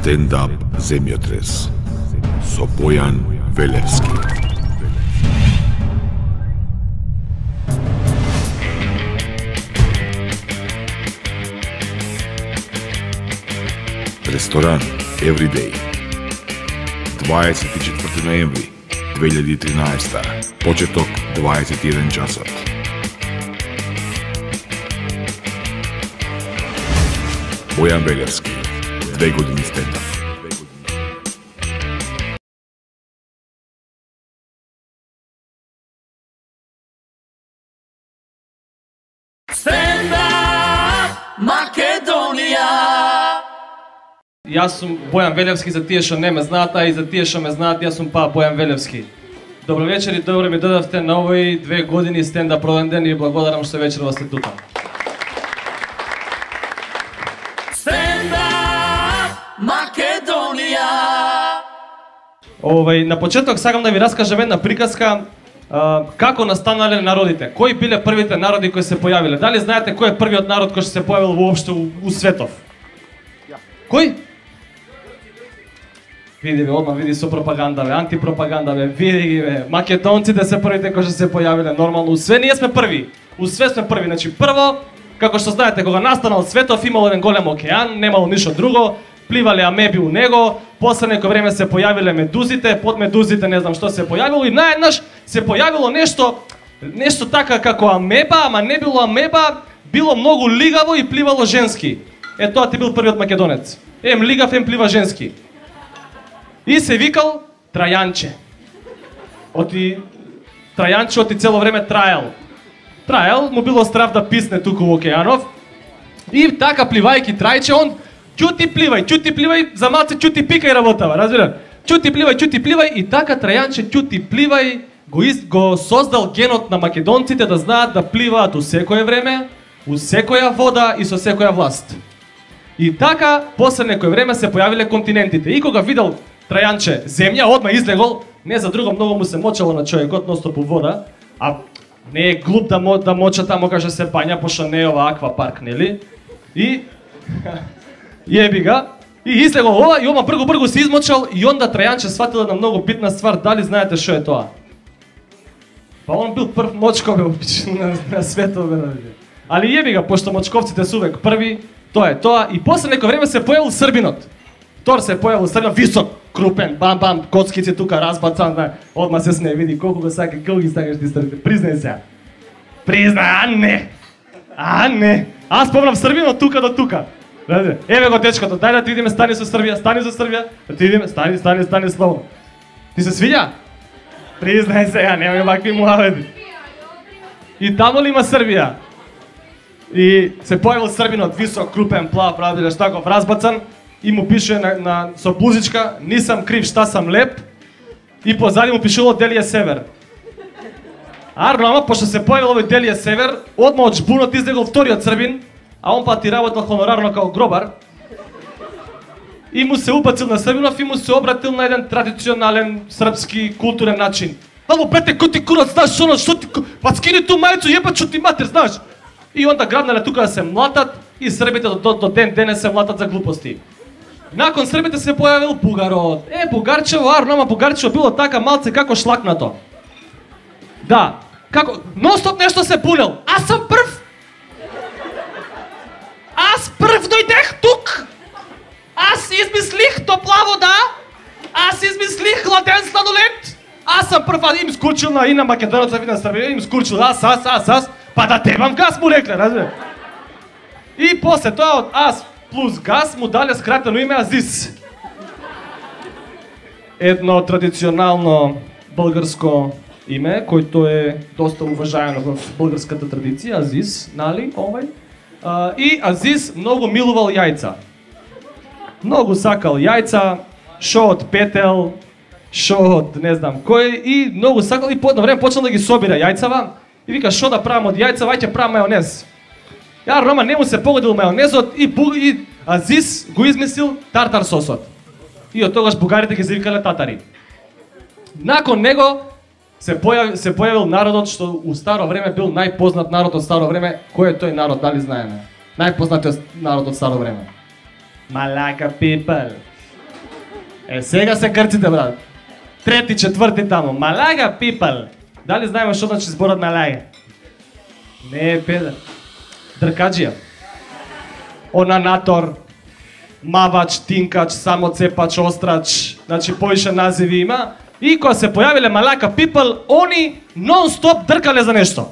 Стендап земјотрес со Бојан Велевски. Ресторан Everyday. 24 ноември 2013. Почеток 21 часот. Бојан Велевски. 2 години стендап. Стендап Македонија. Јас сум Бојан Велевски, за тие што не ме знаат, а и за тие што ме знаат, јас сум Бојан Велевски. Добро вечер и добро ми додавте на овој 2 години стендап роден ден и благодарам што вечерва сте тука. Стендап Македонија. На почеток сакам да ви раскажам една приказка како настанале народите. Кои биле првите народи кои се појавиле? Дали знаете кој е првиот народ кој се појавил воопшто у светов? Кој? Види бе, одма види со пропаганда бе, антипропаганда бе, види ги бе. Македонците се првите кои се појавиле нормално. Све ние сме први. Све сме први. Значи прво, како што знаете, кога настанал светов имало еден голем океан, немало ништо друго, пливале амеби у него, после некој време се појавиле медузите, под медузите не знам што се појавило и наеднаш се појавило нешто така како амеба, ама не било амеба, било многу лигаво и пливало женски. Тоа ти бил првиот македонец. Ем лигав, ем плива женски. И се викал Трајанче. Трајанче оти цело време траел, му било страв да писне туку во океанов. И така пливајки Трајче, он ќути пливај, за малце ќути пикај работава, разбира? Ќути пливај и така Трајанче ќути пливај го создал генот на македонците да знаат да пливаат у секое време, у секоја вода и со секоја власт. И така, после некој време се појавиле континентите. И кога видел Трајанче земја, одма излегол, не за друго многу му се мочало на човекот, ностоп у вода, а не е глуп да моча тамо каже се пања, пошто не е ова аквапарк, нели? И јеби га, и излегол ова, и ома бргу се измочал, и онда Трајанче сватил една многу битна ствар, дали знаете што е тоа? Па он бил прв мочко бе на светот бе. Али јеби га, пошто мочковците се увек први, тоа е тоа, и после некој време се појавил Србинот. Тор се појавил Србинот, висок, крупен, бам, коцкици тука разбацан, одма се смее, види колку ги сакаш ти Србите, признај се. Признај, а не. Аз помнам Србинот тука до тука. Еве го дечкото, дај да ти идеме, стани со Србија, да ти идеме, стани слободно. Ти се свиѓа? Признај се, немај вакви муавети. И тамо ли има Србија? И се појавил Србинот, висок, крупен, плав, правилеш таков, разбацан, и му пише со блузичка, нисам крив, шта сам леп, и позади му пишело Делија Север. Ама, пошто се појавил овој Делија Север, одма од жбунот излегол вториот Србин, а он пати работел хонорарно као гробар, и му се убацил на Србинов и му се обратил на еден традиционален српски културен начин. Ало, бете, кој ти курац, знаеш оно, што ти... Па скини ту мајцу, јебат, што ти матер, знаеш? И онда грабнале тука да се млатат и србите до ден денес се млатат за глупости. Након србите се појавил бугарот. Бугарчево, ама бугарчево било така малце како шлакнато. Да, како ностоп нешто се пулел. Аз сам прв. Аз прв дојдех тук. Аз измислих топла вода. Аз измислих хладен сладолед. Аз сам прв, им скурчил и на македонеца, и на Србија, им скурчил аз. Па да тебам газ му рекле, разбира. И после тоа од аз плюс газ му дале скратено име Азис. Едно традиционално българско име, којто е доста уважаено в българската традиција, Азис, нали, овај. И Азис многу милувал јајца. Многу сакал јајца, шо од петел, шо од не знам кој, и многу сакал, и по едно време почнал да ги собира јајцава, и вика шо да правам од јајца, ваќе правам мајонез. Рома не му се погодил мајонезот и Азис го измислил тартар сосот. И од тогаш бугарите ги завикале татари. Након него се појавил народот што у старо време бил најпознат народ од старо време. Кој е тој народ, дали знаеме? Најпознатиот народ од старо време. Малака people. Сега се грците, брат. Трети, четврти тамо. Малага people. Дали знаеме што значи зборот малага? Не е педер. Дркаджија. Онанатор, мавач, тинкач, самоцепач, острач, значи поише називи има. И кога се појавиле малака people, они нон-стоп дркале за нешто.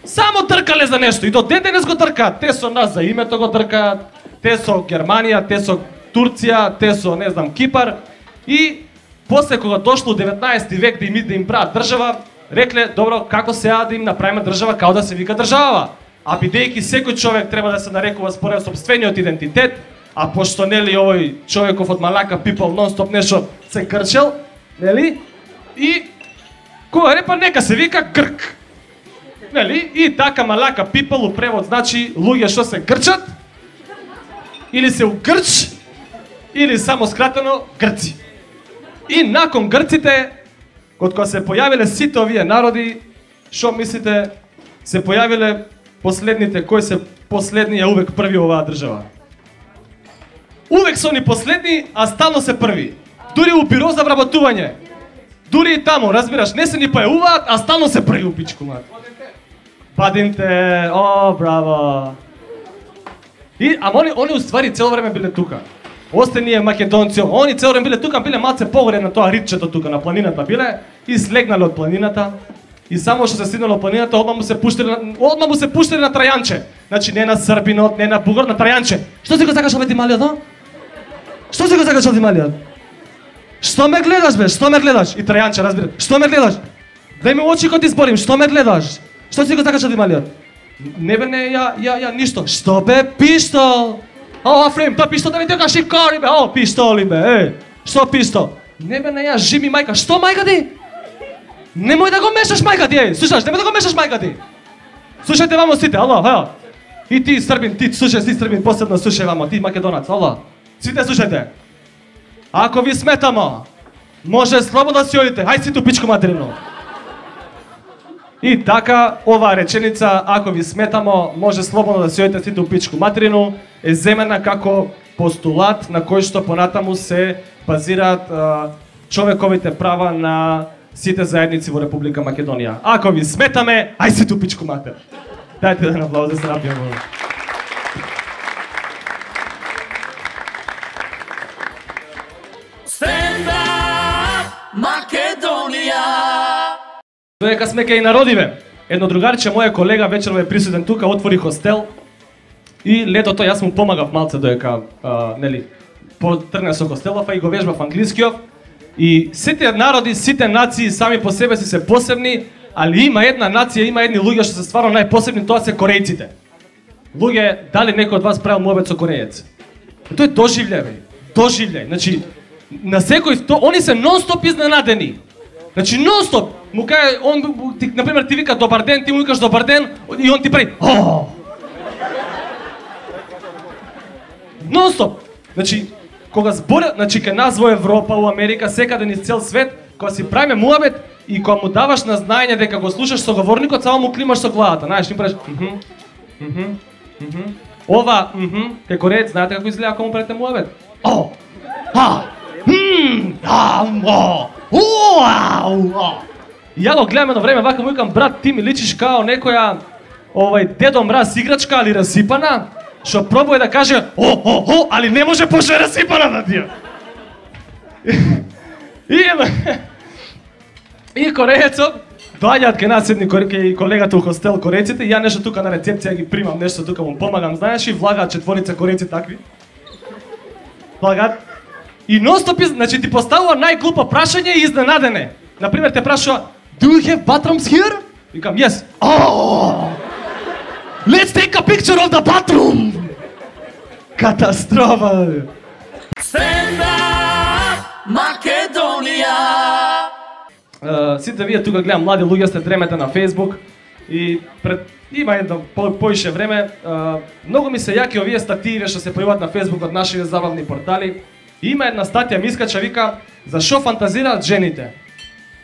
Само тркале за нешто и до ден денес го тркаат. Те со нас за името го тркаат, те со Германија, те со Турција, те со, не знам, Кипар. И после кога дошло 19 век да им прават држава, рекле, добро, како сега да им направиме држава, као да се вика држава. А бидејќи секој човек треба да се нарекува според сопствениот идентитет, а пошто нели овој човеков од малака people нон-стоп нешто се крчел, нели? И кога репа нека се вика Грк. Нели? И така малака people у превод значи луѓе што се грчат или се угрч или само скратено грци. И након грците, кога се појавиле сите овие народи, што мислите, се појавиле последните, кои се последни, а увек први оваа држава. Увек се они последни, а стално се први. Дури у биро за вработување. Дури и тамо, разбираш, не се ни појавуваат, а стално се први у пичку мат. Падинте, о, браво. И, ама они уствари цело време биле тука. Остение македонци, они цело време биле тука, биле малце погоре на тоа ритчето тука на планината биле и слегнале од планината. И само што се стигнало планината, одма му се пуштиле на Трајанче. Значи не на Србинот, не на Бугар, на Трајанче. Што си го сакаш овој Тималиот, а? Што си го сакаш овој Тималиот? Што ме гледаш бе? Што ме гледаш? И Трајанче разбира. Што ме гледаш? Дај ми очи кога ти зборим, што ме гледаш? Што си го сакаш овој Тималиот? Не бе, не, ја, ништо. Што бе, пиштол? О, Афрем, тоа пиштол да ми тека шикари бе. О, пиштоли бе, што пиштол? Не бе, не, ја, жими мајка. Што мајка ти? Немој да го мешаш мајка ти, слушаш, немој да го мешаш мајка ти. Слушајте вамо сите, ало, хао. И ти Србин, ти слушај, си Србин, посебно слушај вамо, ти македонац, ало. Сите слушајте. Ако ви сметамо, може слободно да си одите, хај си ту пичку материно. И така, оваа реченица, ако ви сметамо, може слободно да си одите си ту пичку материно, е земена како постулат на кој што понатаму се базираат човековите права на сите заедници во Република Македонија. Ако ви сметаме, ај си ту пичку матер. Дајте да аплауз да се напијаме. Stand up, Македонија! Доека сме кај народиве, едно другарче, моја колега, вечерва е присутен тука, отвори хостел и летото јас му помагав малце доека, нели, потргна со хостелов, а и го вежбав англискиот. И сите народи, сите нации сами по себе си се посебни, али има една нација, има едни луѓе што се стварно најпосебни, тоа се корејците. Луѓе, дали некој од вас правил муабет со корејец? Тоа е доживљај, бе. Доживљај. Значи, на секој, они се нон-стоп изненадени. Значи, нон-стоп. Му каже, он, ти, например, ти вика добар ден, ти му викаш добар ден, и он ти прави о! Нон-стоп. Значи, кога збора, значи кај нас во Европа, у Америка, секаде низ цел свет, кога си правиме муабет и кога му даваш на знаење дека го слушаш соговорникот, само му климаш со главата, знаеш, им правиш ова, кај кореец, знаете како изгледа кога му правите муабет? О! И ја го гледам едно време, вака му викам, брат, ти ми личиш као некоја Дедо Мраз играчка, али расипана, што пробува да каже али не може пошто е расипана на тие. И кореецот доаѓаат кај нас едни колегата у хостел корееците и ја нешто тука на рецепција ги примам, нешто тука му помагам, знаеш, и влагаат четворица корееци такви. Влагаат. И нон-стоп, значи ти поставува најглупо прашање и изненадене. Например, те прашува, do you have bathrooms here? Викам, yes. Oh! Let's take a picture of the bathroom! Катастрофа! Stand up, Македонија! Сите вие тука гледам, млади луѓе сте дремете на Facebook и има едно поише време, многу ми се јаки овие стативи што се појавуваат на Facebook од нашите забавни портали. И има една статија ми искача, вика, за што фантазираат жените.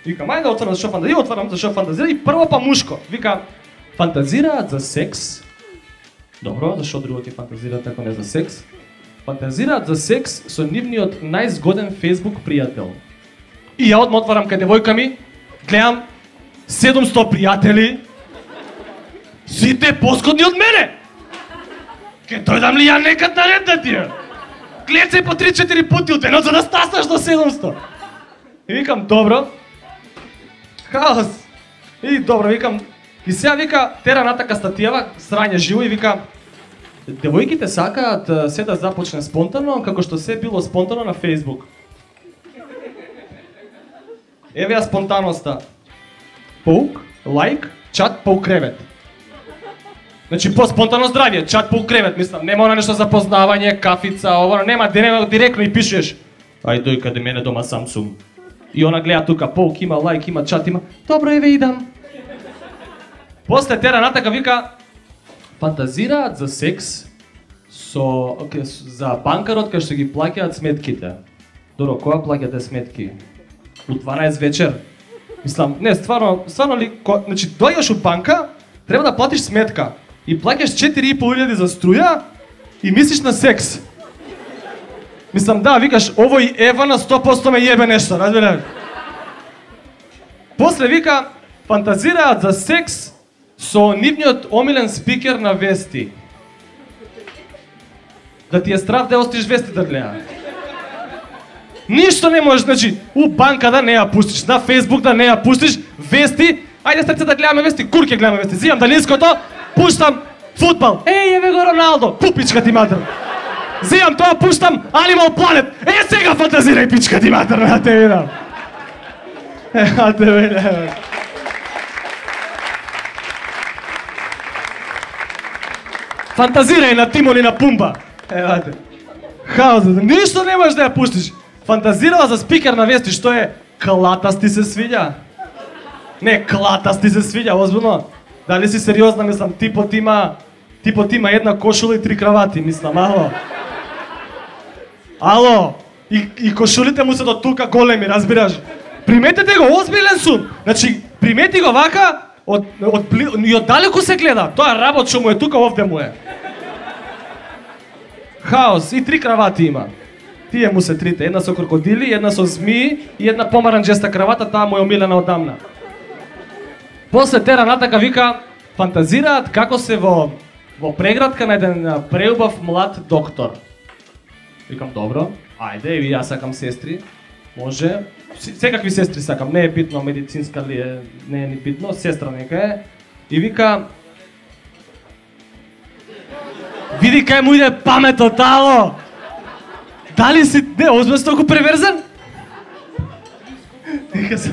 Вика, мај да отворам за што фантазираат, и отворам за што фантазираат, и прво па мушко. Вика, фантазираат за секс. Добро, зашо друго ти фантазираат ако не за секс? фантазираат за секс со нивниот најзгоден Facebook пријател. И ја одма отварам кај девојка ми, гледам 700 пријатели, сите поскодни од мене. Ке дојдам ли ја некад на ред да тие? Клецај по 3-4 пути од денот за да стаснаш до 700. И викам, добро. Хаос. И добро, викам. И сега вика, тера натака статијава, срање живо и вика, девојките сакаат се да започне спонтано, како што се било спонтано на Facebook. Еве ја спонтаноста. Паук, лайк, чат, паук кревет. Значи по спонтано здравје, чат паук кревет, мислам, нема она нешто за познавање, кафица, ова, нема, нема директно и пишеш. Ај дој каде мене дома сам сум. И она гледа тука, паук има, лайк има, чат има. Добро, еве идам. После тера натака вика, фантазираат за секс за банкарот кај што ги плаќаат сметките. Добро, кога плаќате сметки? У 12 вечер. Мислам, не, стварно ли, значи дојдеш у банка, треба да платиш сметка и плаќаш 4.500 за струја и мислиш на секс. Мислам, да, викаш, овој Ева на 100% ме јебе нешто, разбираш? После вика, фантазираат за секс со нивниот омилен спикер на вести. Да ти е страв да остиш вести да гледа. Ништо не можеш, значи, у банка да не ја пуштиш, на Facebook да не ја пуштиш, вести, ајде срце да гледаме вести, курке гледаме вести, зимам далинското, пуштам фудбал, еве го Роналдо, пупичка ти матер. Зимам тоа, пуштам Animal Planet, сега фантазирај пичка ти матер, да те видам. Да те видам. Фантазирај на Тимон и на Пумба. Евате. Хаос, ништо не можеш да ја пуштиш. Фантазирала за спикер на вести, што е клатасти се свиѓа. Не, клатасти се свиѓа, озбилно. Дали си сериозна, мислам, типот има една кошула и 3 кравати, мислам, ало. Ало, и кошулите му се до тука големи, разбираш. Приметете го, озбилен сум. Значи, примети го вака, и од далеку се гледа. Тоа работ што му е тука, овде му е. Хаос, и 3 кравати има. Тие му се трите, една со крокодили, една со змии и една помаранџеста кравата, таа му е омилена одамна. После тера натака вика, фантазираат како се во преградка на еден преубав млад доктор. Викам, добро, ајде, и јас сакам сестри, може, секакви сестри сакам, не е битно, медицинска ли е, не е ни битно, сестра нека е. И вика, види кај му иде паметот, ало! Дали си, не, озбилно толку преверзан? Вика се,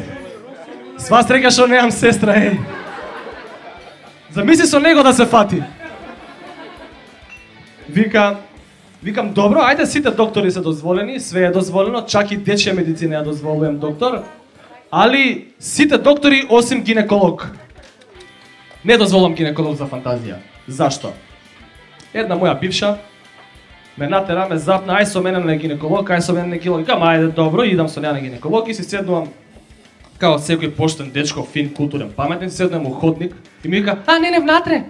сва среќа што немам сестра, еј. Замисли со него да се фати. Викам, добро, ајде сите доктори се дозволени, све е дозволено, чак и дечја медицина ја дозволувам доктор, али сите доктори осим гинеколог. Не дозволувам гинеколог за фантазија. Зашто? Една моја бивша ме натера, ме запна, ај со мене на гинеколог, ај со мене на гинеколог, ајде добро, идам со неа на гинеколог и си седнувам као секој поштен дечко, фин, културен, паметен, седнувам у ходник и ми вика, не, внатре.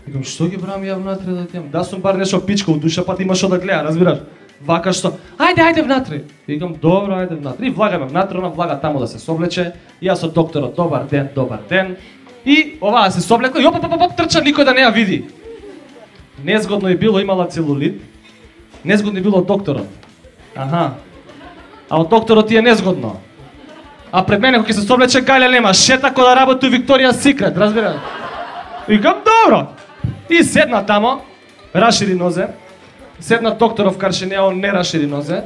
Викам, што ги брам ја внатре да тијам? Да сум бар нешто пичка у душа, па ти има што да гледа, разбираш? Вака што, ајде внатре. Викам, добро, ајде внатре. И влагаме внатре, она влага таму да се соблече. И јас со докторот, добар ден. И оваа се соблекла и оп, трча, никој да не ја види. Незгодно е било, имала целулит. Незгодно е било од докторот. Аха. А од докторот ти е незгодно. А пред мене кога ќе се соблече гаља нема, шета кој да работи у Викторија Секрет, разбираш? Викам, добро. И седна тамо, рашири нозе. Седна докторов каршенеа, он не рашири нозе.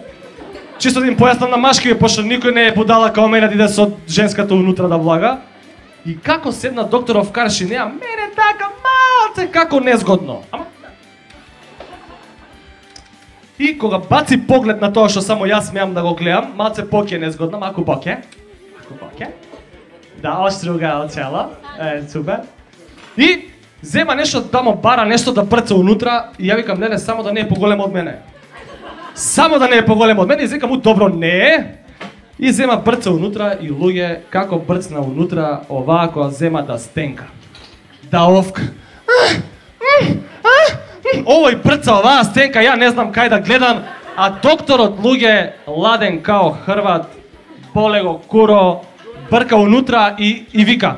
Чисто да им појаснам на машки, пошто никој не е будала као мене да иде со женската унутра да влага. И како седна докторов каршенеа, мене така малце како незгодно. И кога баци поглед на тоа што само јас смеам да го гледам, малце поќе незгодно, маку поќе. Да, оштруга оцела. Супер. И зема нешто тамо, бара нешто да брца унутра и ја викам, не, само да не е поголемо од мене. Само да не е поголемо од мене и викам, добро, не е. И зема брца унутра и луѓе, како брцна унутра, оваа која зема да стенка. Да овка. овој прца, оваа стенка, ја не знам кај да гледам, а докторот луѓе ладен као Хрват, боле го куро, брка унутра и вика.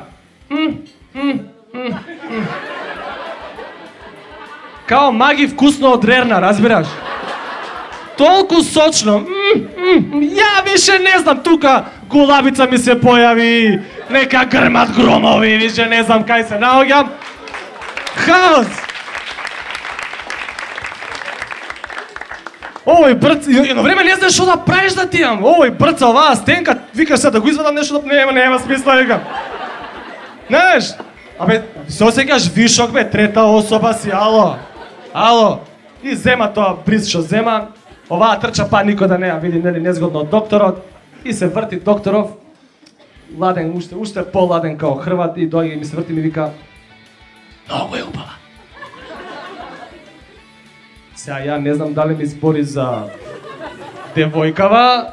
Као маги вкусно од рерна, разбираш? Толку сочно. Ја више не знам, тука гулабица ми се појави, нека грмат громови, више не знам кај се наоѓам. Хаос! Овој брц, едно време не знаеш што да правиш да ти јам. Овој брца, оваа стенка, викаш се да го извадам нешто, да нема смисла, викам. Знаеш? Абе, се осеќаш вишок, бе, трета особа си, ало. И зема тоа бриз што зема, оваа трча па никој да не ја види, нели, незгодно од докторот, и се врти докторов, ладен, уште поладен као Хрват, и доаѓа и ми се врти и ми вика, многу е убава. Сега ја не знам дали ми збори за девојкава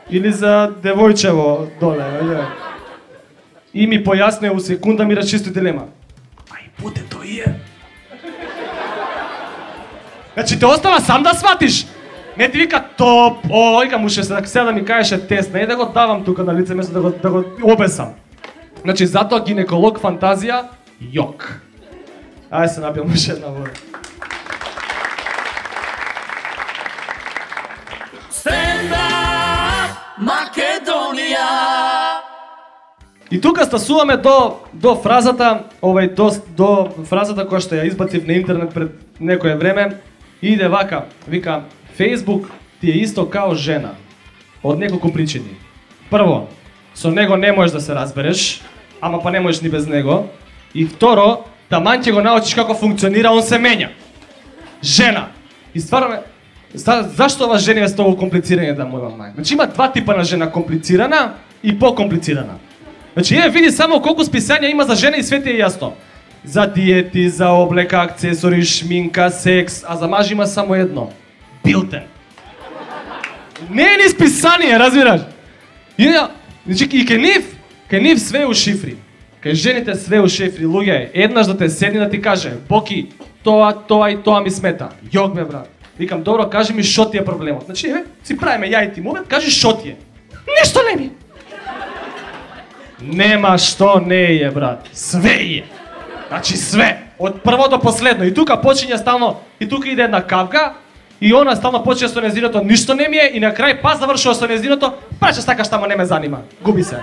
или за девојчево доле. И ми појасне у секунда, ми расчисти дилема. Ај буде тој е. Значи те остава сам да сватиш. Не ти вика топ, вика му сега да ми кажеше тест, не да го давам тука на лице место да го обесам. Значи затоа гинеколог фантазија, јок. Ајде се напијам уште една вода. Stand up, Македонија! И тука стасуваме до фразата, до фразата која што ја избацив на интернет пред некое време. Иде вака, вика, Facebook ти е исто као жена. Од неколку причини. Прво, со него не можеш да се разбереш, ама па не можеш ни без него. И второ, таман ќе го научиш како функционира, он се менја. Жена. И стварно зашто ова жена е толку комплицирање да моја мај? Значи има два типа на жена, комплицирана и покомплицирана. Значи види само колку списања има за жена и све ти е јасно. За диети, за облека, акцесори, шминка, секс, а за маж има само едно. Билтен. Не е ни списание, разбираш? Значи и кај нив све у шифри. Кај жените све у шифри, луѓе, еднаш да те седни да ти каже, Боки, тоа и тоа ми смета. Јок бе брат. Викам, добро, кажи ми шо ти е проблемот. Значи, си правиме ја и ти момент, кажи шо ти е. Ништо не ми. Нема што не е, брат. Све е. Значи све. Од прво до последно. И тука почиња стално, и тука иде една кавка, и она стално почиња со незиното, ништо не ми е, и на крај па завршува со незиното, па ќе сакаш тамо не ме занима. Губи се.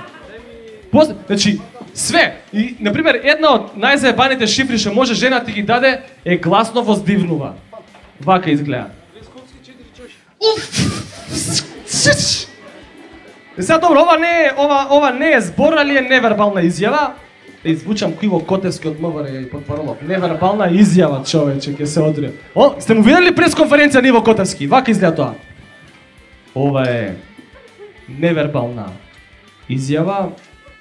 Значи, све. И, например, една од најзаебаните шифри што може жена ти ги даде е гласно воздивнува. Вака изгледа. Сега добро, ова не е збор, али е невербална изјава. Да извучам Киво Котевски од МВР и потпаролов. Невербална изјава, човече, ќе се одрија. Сте му видели пресконференција на Иво Котевски? Вака изгледа тоа. Ова е невербална изјава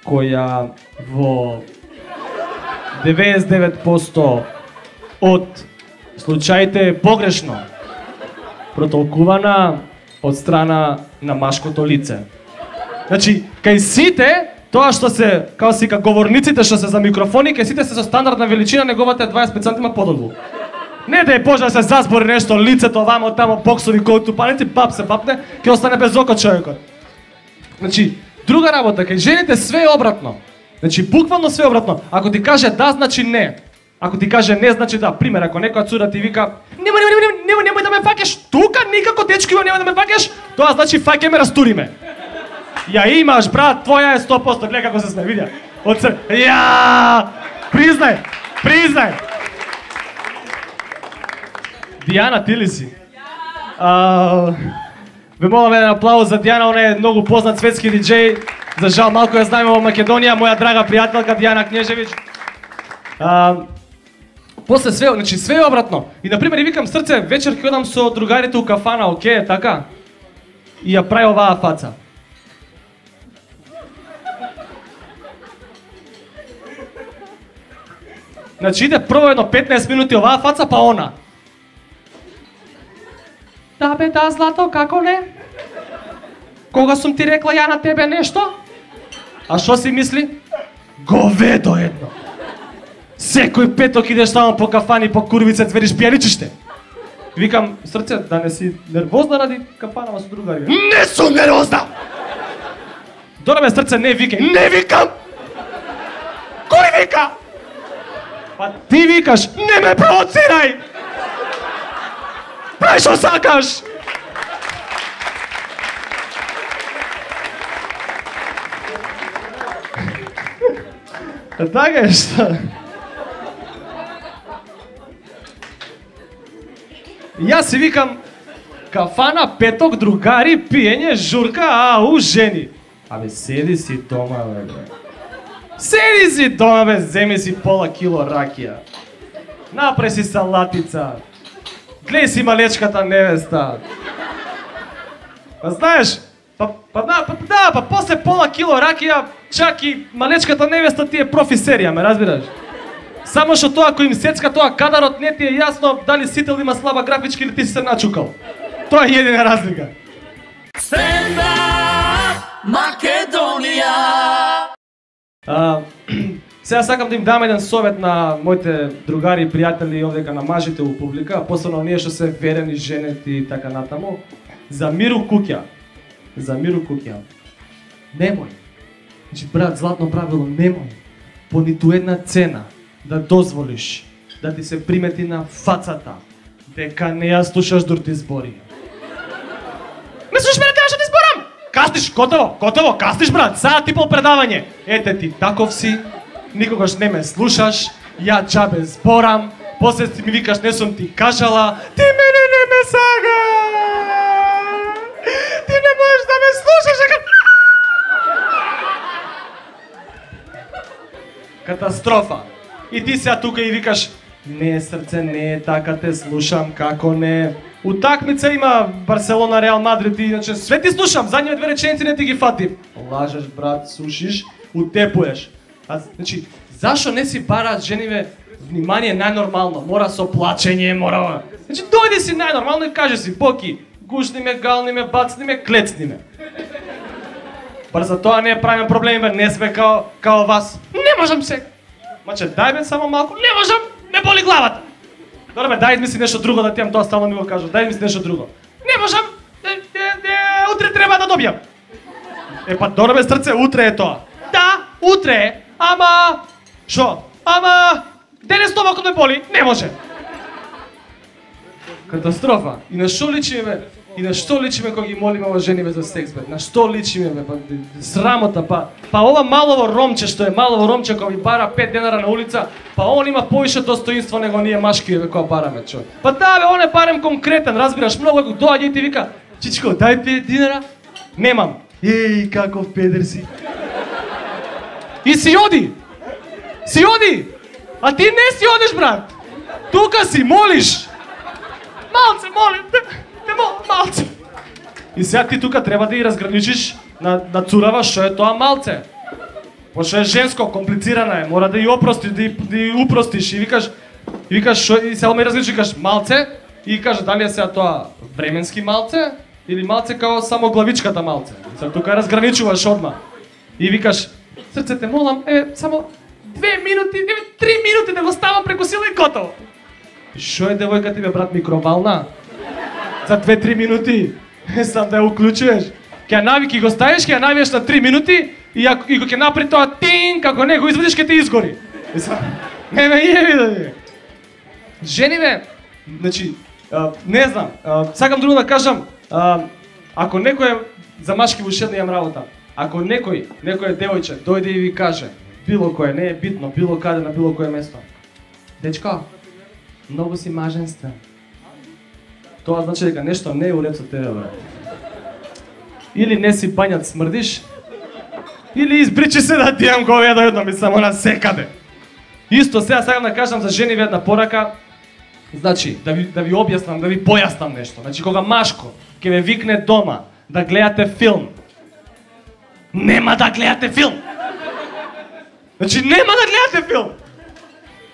која во 99% од случаите е погрешно протолкувана од страна на машкото лице. Значи, кај сите, тоа што се, као сика, говорниците што се за микрофони, кај сите се со стандардна величина, неговата е 20 см подолу. Не да е може да се засбори нешто, лицето, вамо, тамо, боксови, кој тупаници, пап се папне, ќе остане без око човекот. Значи, друга работа, кај жените све е обратно. Значи, буквално све е обратно. Ако ти каже да, значи не. Ако ти каже не, значи да. Пример, ако некоја цура ти вика немој да ме фаќаш тука, никако дечко, немој да ме фаќаш, тоа значи фаќе ме, растури ме. Ја имаш, брат, твоја е 100%, гледа како се сме, видја. Ја! Признај! Дијана, ти ли си? Ве молам еден аплауз за Дијана, она е многу познат светски диџеј. За жал малку ја знаеме во Македонија, моја драга пријателка Дијана Кнежевиќ. После све, значи све е обратно. И на пример викам срце, вечер ќе одам со другарите у кафана, окей, така? И ја прави оваа фаца. Значи иде прво едно 15 минути оваа фаца, па она. Да бе, да, злато, како не? Кога сум ти рекла ја на тебе нешто? А што си мисли? Говедо едно. Секој петок идеш само по кафани, по курвице, цвериш пијаничиште. Викам, срце, да не си нервозна ради кафанава со другари. Не сум нервозна! Дорабе, срце, не викај. Не викам! Кој вика? Па ти викаш, не ме провоцирај! Прај што сакаш! Така е што? Јас си викам, кафана, петок, другари, пиење, журка, ау, жени. Абе, седи си дома, бе. Седи си дома, бе, земи си пола кило ракија. Напре си салатица. Глеј си малечката невеста. Па знаеш, па после пола кило ракија, чак и малечката невеста ти е профи-серија, ме разбираш? Само што тоа кој им сецка тоа кадарот не ти е јасно дали Сител има слаба графичка или ти си се начукал. Тоа е едина разлика. Stand-up Македонија. Сега сакам да им дам еден совет на моите другари и пријатели овдека на мажите у публика, посебно оние што се верени женети и така натаму. За миру куќа. За миру куќа. Немој. Значи, брат, златно правило, немој по ниту една цена да дозволиш да ти се примети на фацата дека не ја слушаш дур ти збори. Мислиш ме да кажеш да ти зборам? Кастиш, готово, кастиш, брат, саат и пол предавање. Ете ти, таков си, никогаш не ме слушаш, ја џабе зборам, после ти ми викаш не сум ти кажала, ти мене не ме сага. Ти не можеш да ме слушаш, катастрофа. И ти сега тука и викаш, не срце, не е така, те слушам, како не. Утакмица има Барселона, Реал Мадрид и иначе све ти слушам, задниве две реченици не ти ги фатив. Лажеш, брат, слушиш, утепуеш. Значи, зашо не си бараат жениве внимание најнормално? Мора со плачење, мора... Значи, дојди си најнормално и кажи си, Боки, гушни ме, гални ме, бацни ме, клецни ме. Бар за тоа не правиме проблеми, не сме као вас. Не можам сега. Маче, дај бе само малку, не можам, ме боли главата. Добре бе, дај мисли нешто друго да ти имам, тоа стално ми го кажа. Дај мисли нешто друго. Не можам, утре треба да добијам. Па добре бе, срце, утре е тоа. Да, утре е, ама... Шо? Ама... Денес стомакот ме боли, не може. Катастрофа. И на што личиме? И на што личиме кога ги молиме ова жениве за секс, бе? На што личиме, бе? Срамота, па ова малово ромче што е малово ромче кога ви бара 5 денара на улица, па он има повише достоинство него ние машки, бе, кога бараме, човек. Па да, бе, он е барем конкретен, разбираш, многу ако доаѓа и ти вика, чичко, дај 5 динара. Немам. Еј, каков педер си. И си оди. Си оди. А ти не си одиш, брат. Тука си молиш. Малце, молим те. Малце. И сега ти тука треба да ја разграничиш на цурава што е тоа малце. Пошто е женско, комплицирана е, мора да ја опрости, да ја упростиш и викаш што и сега ме различиш, викаш малце и кажа дали е сега тоа временски малце или малце као само главичката малце. Сега тука разграничуваш одма. И викаш срце те молам, само 2 минути, 3 минути да го ставам преку сила и готово. Шо е девојка ти бе, брат, микровална? За 2-3 минути, сам да ја уклучуваш. Ке го ставиш, ќе ја навиеш на 3 минути и ако ќе направи тоа тин, како не го извадиш, ќе те изгори. Не ме јеби да ви. Жениве, значи, не знам, сакам друго да кажам, ако некој за машки во ушедна имам работа, ако некој девојче дојде и ви каже, било кое, не е битно, било каде, на било кое место. Дечко, многу си маженствен. Тоа значи дека нешто не е уред со тебе, брат. Или не си бањат смрдиш, или избричи се да ти имам говеда едно ми само на секаде. Исто сега сакам да кажам за жениве една порака. Значи, да ви објаснам, да ви појаснам нешто. Значи, кога машко ќе ве викне дома да гледате филм, нема да гледате филм. Значи, нема да гледате филм.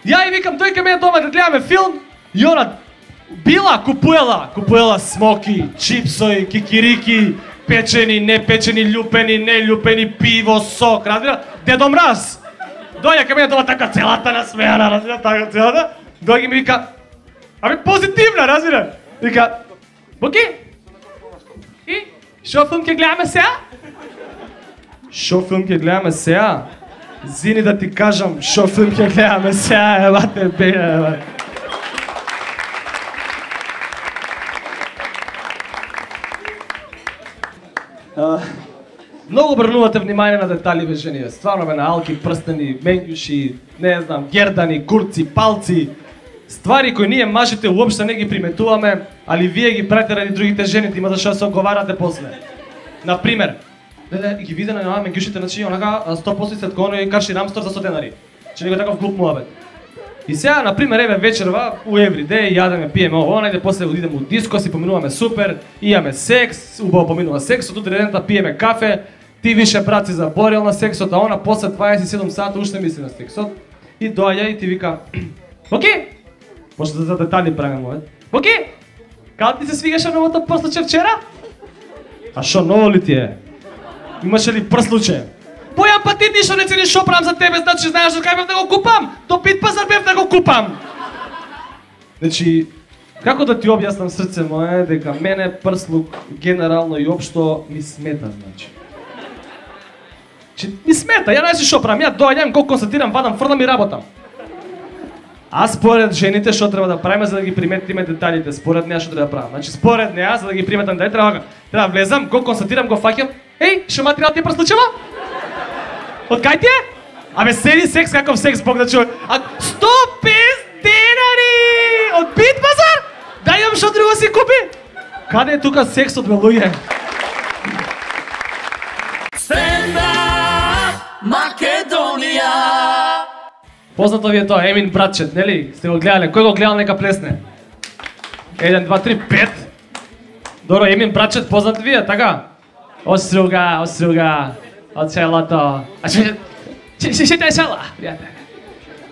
Ја и викам, тој ке ме дома да гледаме филм, и она купуела смоки, чипсои, кикирики, печени, непечени, љупени, нељупени, пиво, сок, разбира? Дедо Мраз. Дојде ке мене дома така целата насмејана, разбира, така целата. Дојде ми вика, абе позитивна, разбира? Вика, Буки? И? Шо филм ќе гледаме сега? Шо филм ќе гледаме сега? Зини да ти кажам, шо филм ќе гледаме сега, елате бе, елате. Многу обрнувате внимание на детали бе жени, стварно бе, на алки, прстени, менѓуши, не знам, гердани, курци, палци, ствари кои ние мажите уопште не ги приметуваме, али вие ги правите ради другите жени, има зашто се оговарате после. Например, ги виде на менѓушите, значи онака 100% след кој и карши рамстор за 100 денари. Че него таков глуп муабет. И сега, например, еве вечерва у Everyday јадеме, пиеме ово, најде после одидеме у диско, си поминуваме супер, имаме секс, убаво поминува сексот, утре дента пиеме кафе, ти више брат си заборел на сексот, а она после 27 сата уште мисли на сексот. И доаѓа и ти вика, Боки! Може да за детали правиме овој. Боки! Као ти се свигаше новото прслуче вчера? А шо ново ли ти е? Имаше ли прслуче? Бојан, па ти ништо не цениш шо правам за тебе, значи знаеш кај бев да го купам? До Пит пазар бев да го купам. Значи, како да ти објаснам срце мое дека мене прслук генерално и општо ми смета, значи. Ми смета, ја знаеш шо правам, ја доаѓам, го констатирам, вадам, фрлам и работам. А според жените што треба да правиме за да ги приметиме деталите, според неа што треба да правам. Значи според неа за да ги приметам детали треба да влезам, го констатирам, го фаќам. Еј, шо материјал ти прслучува? Од кај ти е? Абе седи секс каков секс Бог да чуе. А 150 денари! Од Бит пазар? Дај имам што друго си купи? Каде е тука сексот бе луѓе? Стендап Македонија. Познато ви е тоа, Емин братчет, нели? Сте го гледале, кој го гледал нека плесне? 1, 2, 3, 5. Добро, Емин братчет познат ви е, така? Оструга, од селото. А ще те села, пријател.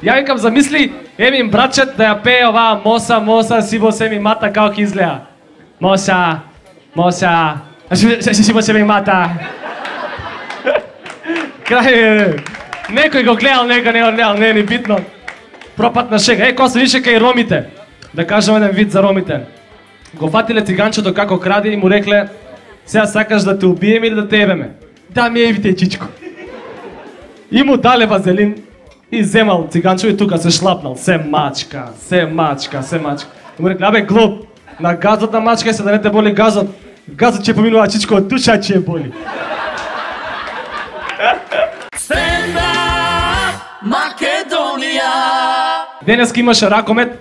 Ја викам, замисли Емин братчет да ја пее оваа моса, сибо се ми мата како ќе изгледа. Моса, а сибо се ми мата. Крај, некој го гледал, некој не го гледал, не е ни битно. Пропатна шега. Кој се више кај ромите. Да кажем еден вид за ромите. Го фатиле циганчето како краде и му рекле, сега сакаш да те убием или да те ебеме? Да ми евите чичко. И му дале вазелин и земал циганчо и тука се шлапнал. Се мачка. И му рекле, абе глуп, на газот на мачка се да не те боли газот. Газот ќе поминува чичко, од душа ќе боли. Стендап Македонија. Денеска имаше ракомет,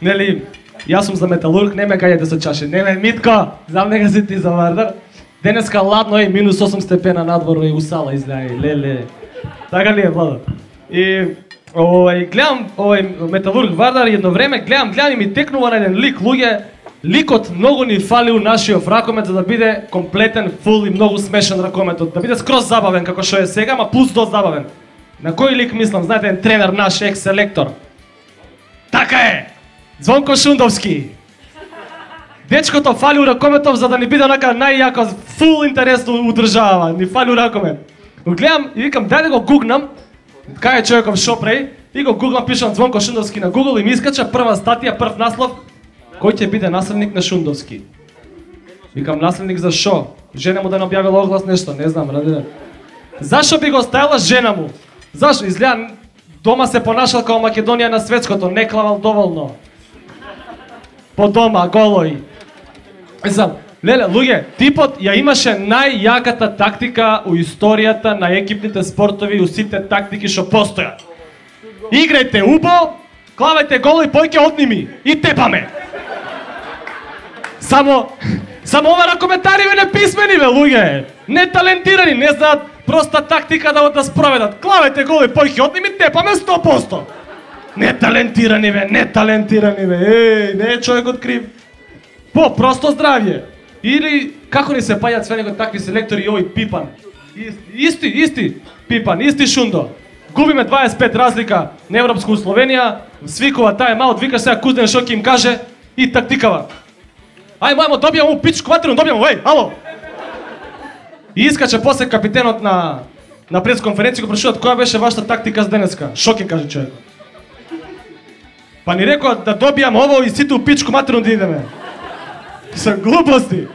нели, јас сум за металург, не ме каѓате со чаше, не ме Митко, знам нека си ти за Вардар. Денеска ладно е, минус 8 степена надворно и усала излеја, леле. Така ли е, Владо? И гледам металург Вардар едно време, гледам и ми текнува на еден лик, луѓе, ликот многу ни фали у нашиот ракомет за да биде комплетен, фул и многу смешен ракометот, да биде скроз забавен како што е сега, ма плюс до забавен. На кој лик мислам, знаете, еден тренер наш екс-селектор. Така е! Звонко Шундовски. Дечкото фали у ракометов за да ни биде онака најјако, фул интересно удржава, ни фали у ракомет. Го гледам и викам, дај да го гугнам, кај е човеков шо прави, и го гугнам, пишам Звонко Шундовски на Google и ми искача прва статија, прв наслов, кој ќе биде наследник на Шундовски. Викам, наследник за шо? Жена му да не објавила оглас нешто, не знам, ради. Зашо би го ставила жена му? Зашо? Изгледа, дома се понашал како Македонија на светското, не клавал доволно. По дома, голој. Знам, леле, луѓе, типот ја имаше најјаката тактика у историјата на екипните спортови, у сите тактики што постојат. Играјте убо, клавајте гол и појке одними и тепаме. Само ова ракометари не писмени бе, луѓе. Не талентирани, не знаат проста тактика да спроведат. Клавајте гол и појке одними, тепаме 100%. Не талентирани бе. Еј, не е човекот крив. Просто здравје. Или како ни се паѓаат све него такви селектори и овој Пипан. Исти Пипан, исти Шундо. Губиме 25 разлика на Европско у Словенија, свикува тај маут, вика сега Кузден шо ќе им каже и тактикава. Ај мајмо, добијам у пичку ватерно, добијам, еј, ало! И искача после капитенот на пресконференција го прашуваат која беше вашата тактика за денеска. Шо ќе каже човекот? Па ни рекоа да добијам ово и сите у пичку матерно да идеме. Со глупости.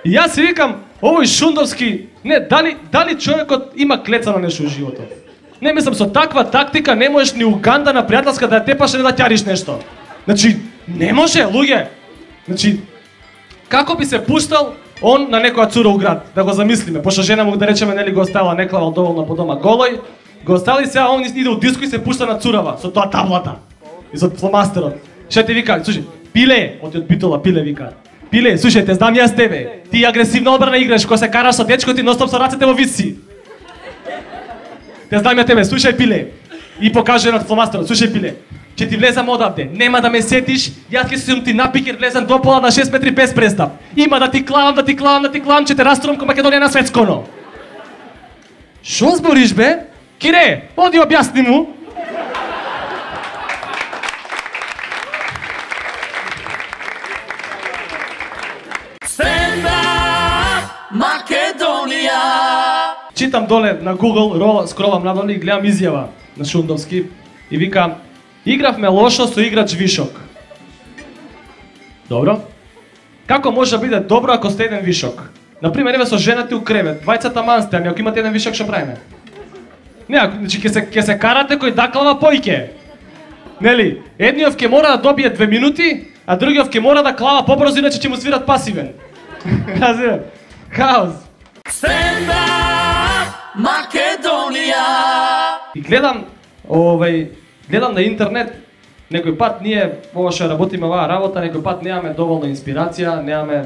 И јас си викам, овој Шундовски, не, дали човекот има клецано нешто во животот? Не, мислам, со таква тактика не можеш ни Уганда на пријателска да ја тепаш и да ќариш нешто. Значи, не може, луѓе. Значи, како би се пуштал он на некоја цура у град, да го замислиме, пошто жена му да речеме нели го оставила не клавал доволно по дома голој, го остави сега он иде у диско и се пушта на цурава со тоа таблата и со фломастерот. Ше ти вика, слушај, Пиле, од Битола Пиле вика. Пиле, слушај, те знам јас тебе. Ти агресивна одбрана играш, кога се караш со дечко ти ностоп со рацете во висци. Те знам ја тебе, слушај Пиле. И покаже на фломастерот, слушај Пиле. Ќе ти влезам одавде, нема да ме сетиш, јас ќе сум ти напикер, влезам до пола на 6 метри без престап. Има да ти клавам, ќе те раструвам ко Македонија на светсконо. Шо збориш бе? Кире, оди објасни му. Stand up, Македонија. Читам доле на Google, скролам надоле и гледам изјава на Шундовски и вика: игравме лошо со играч вишок. Добро. Како може да биде добро ако сте еден вишок? Например, еве со жената у кревет, двајцата мансте, ами ако имате еден вишок што правиме? Не, значи ќе се карате кој даклава појке. Нели? Едниот ќе мора да добие 2 минути, а другиот ќе мора да клава побрзо, иначе ќе му свират пасивен. Разбира? Хаос. Stand up, Македонија. И гледам на интернет, некој пат ние ова што работиме оваа работа, некој пат немаме доволно инспирација, немаме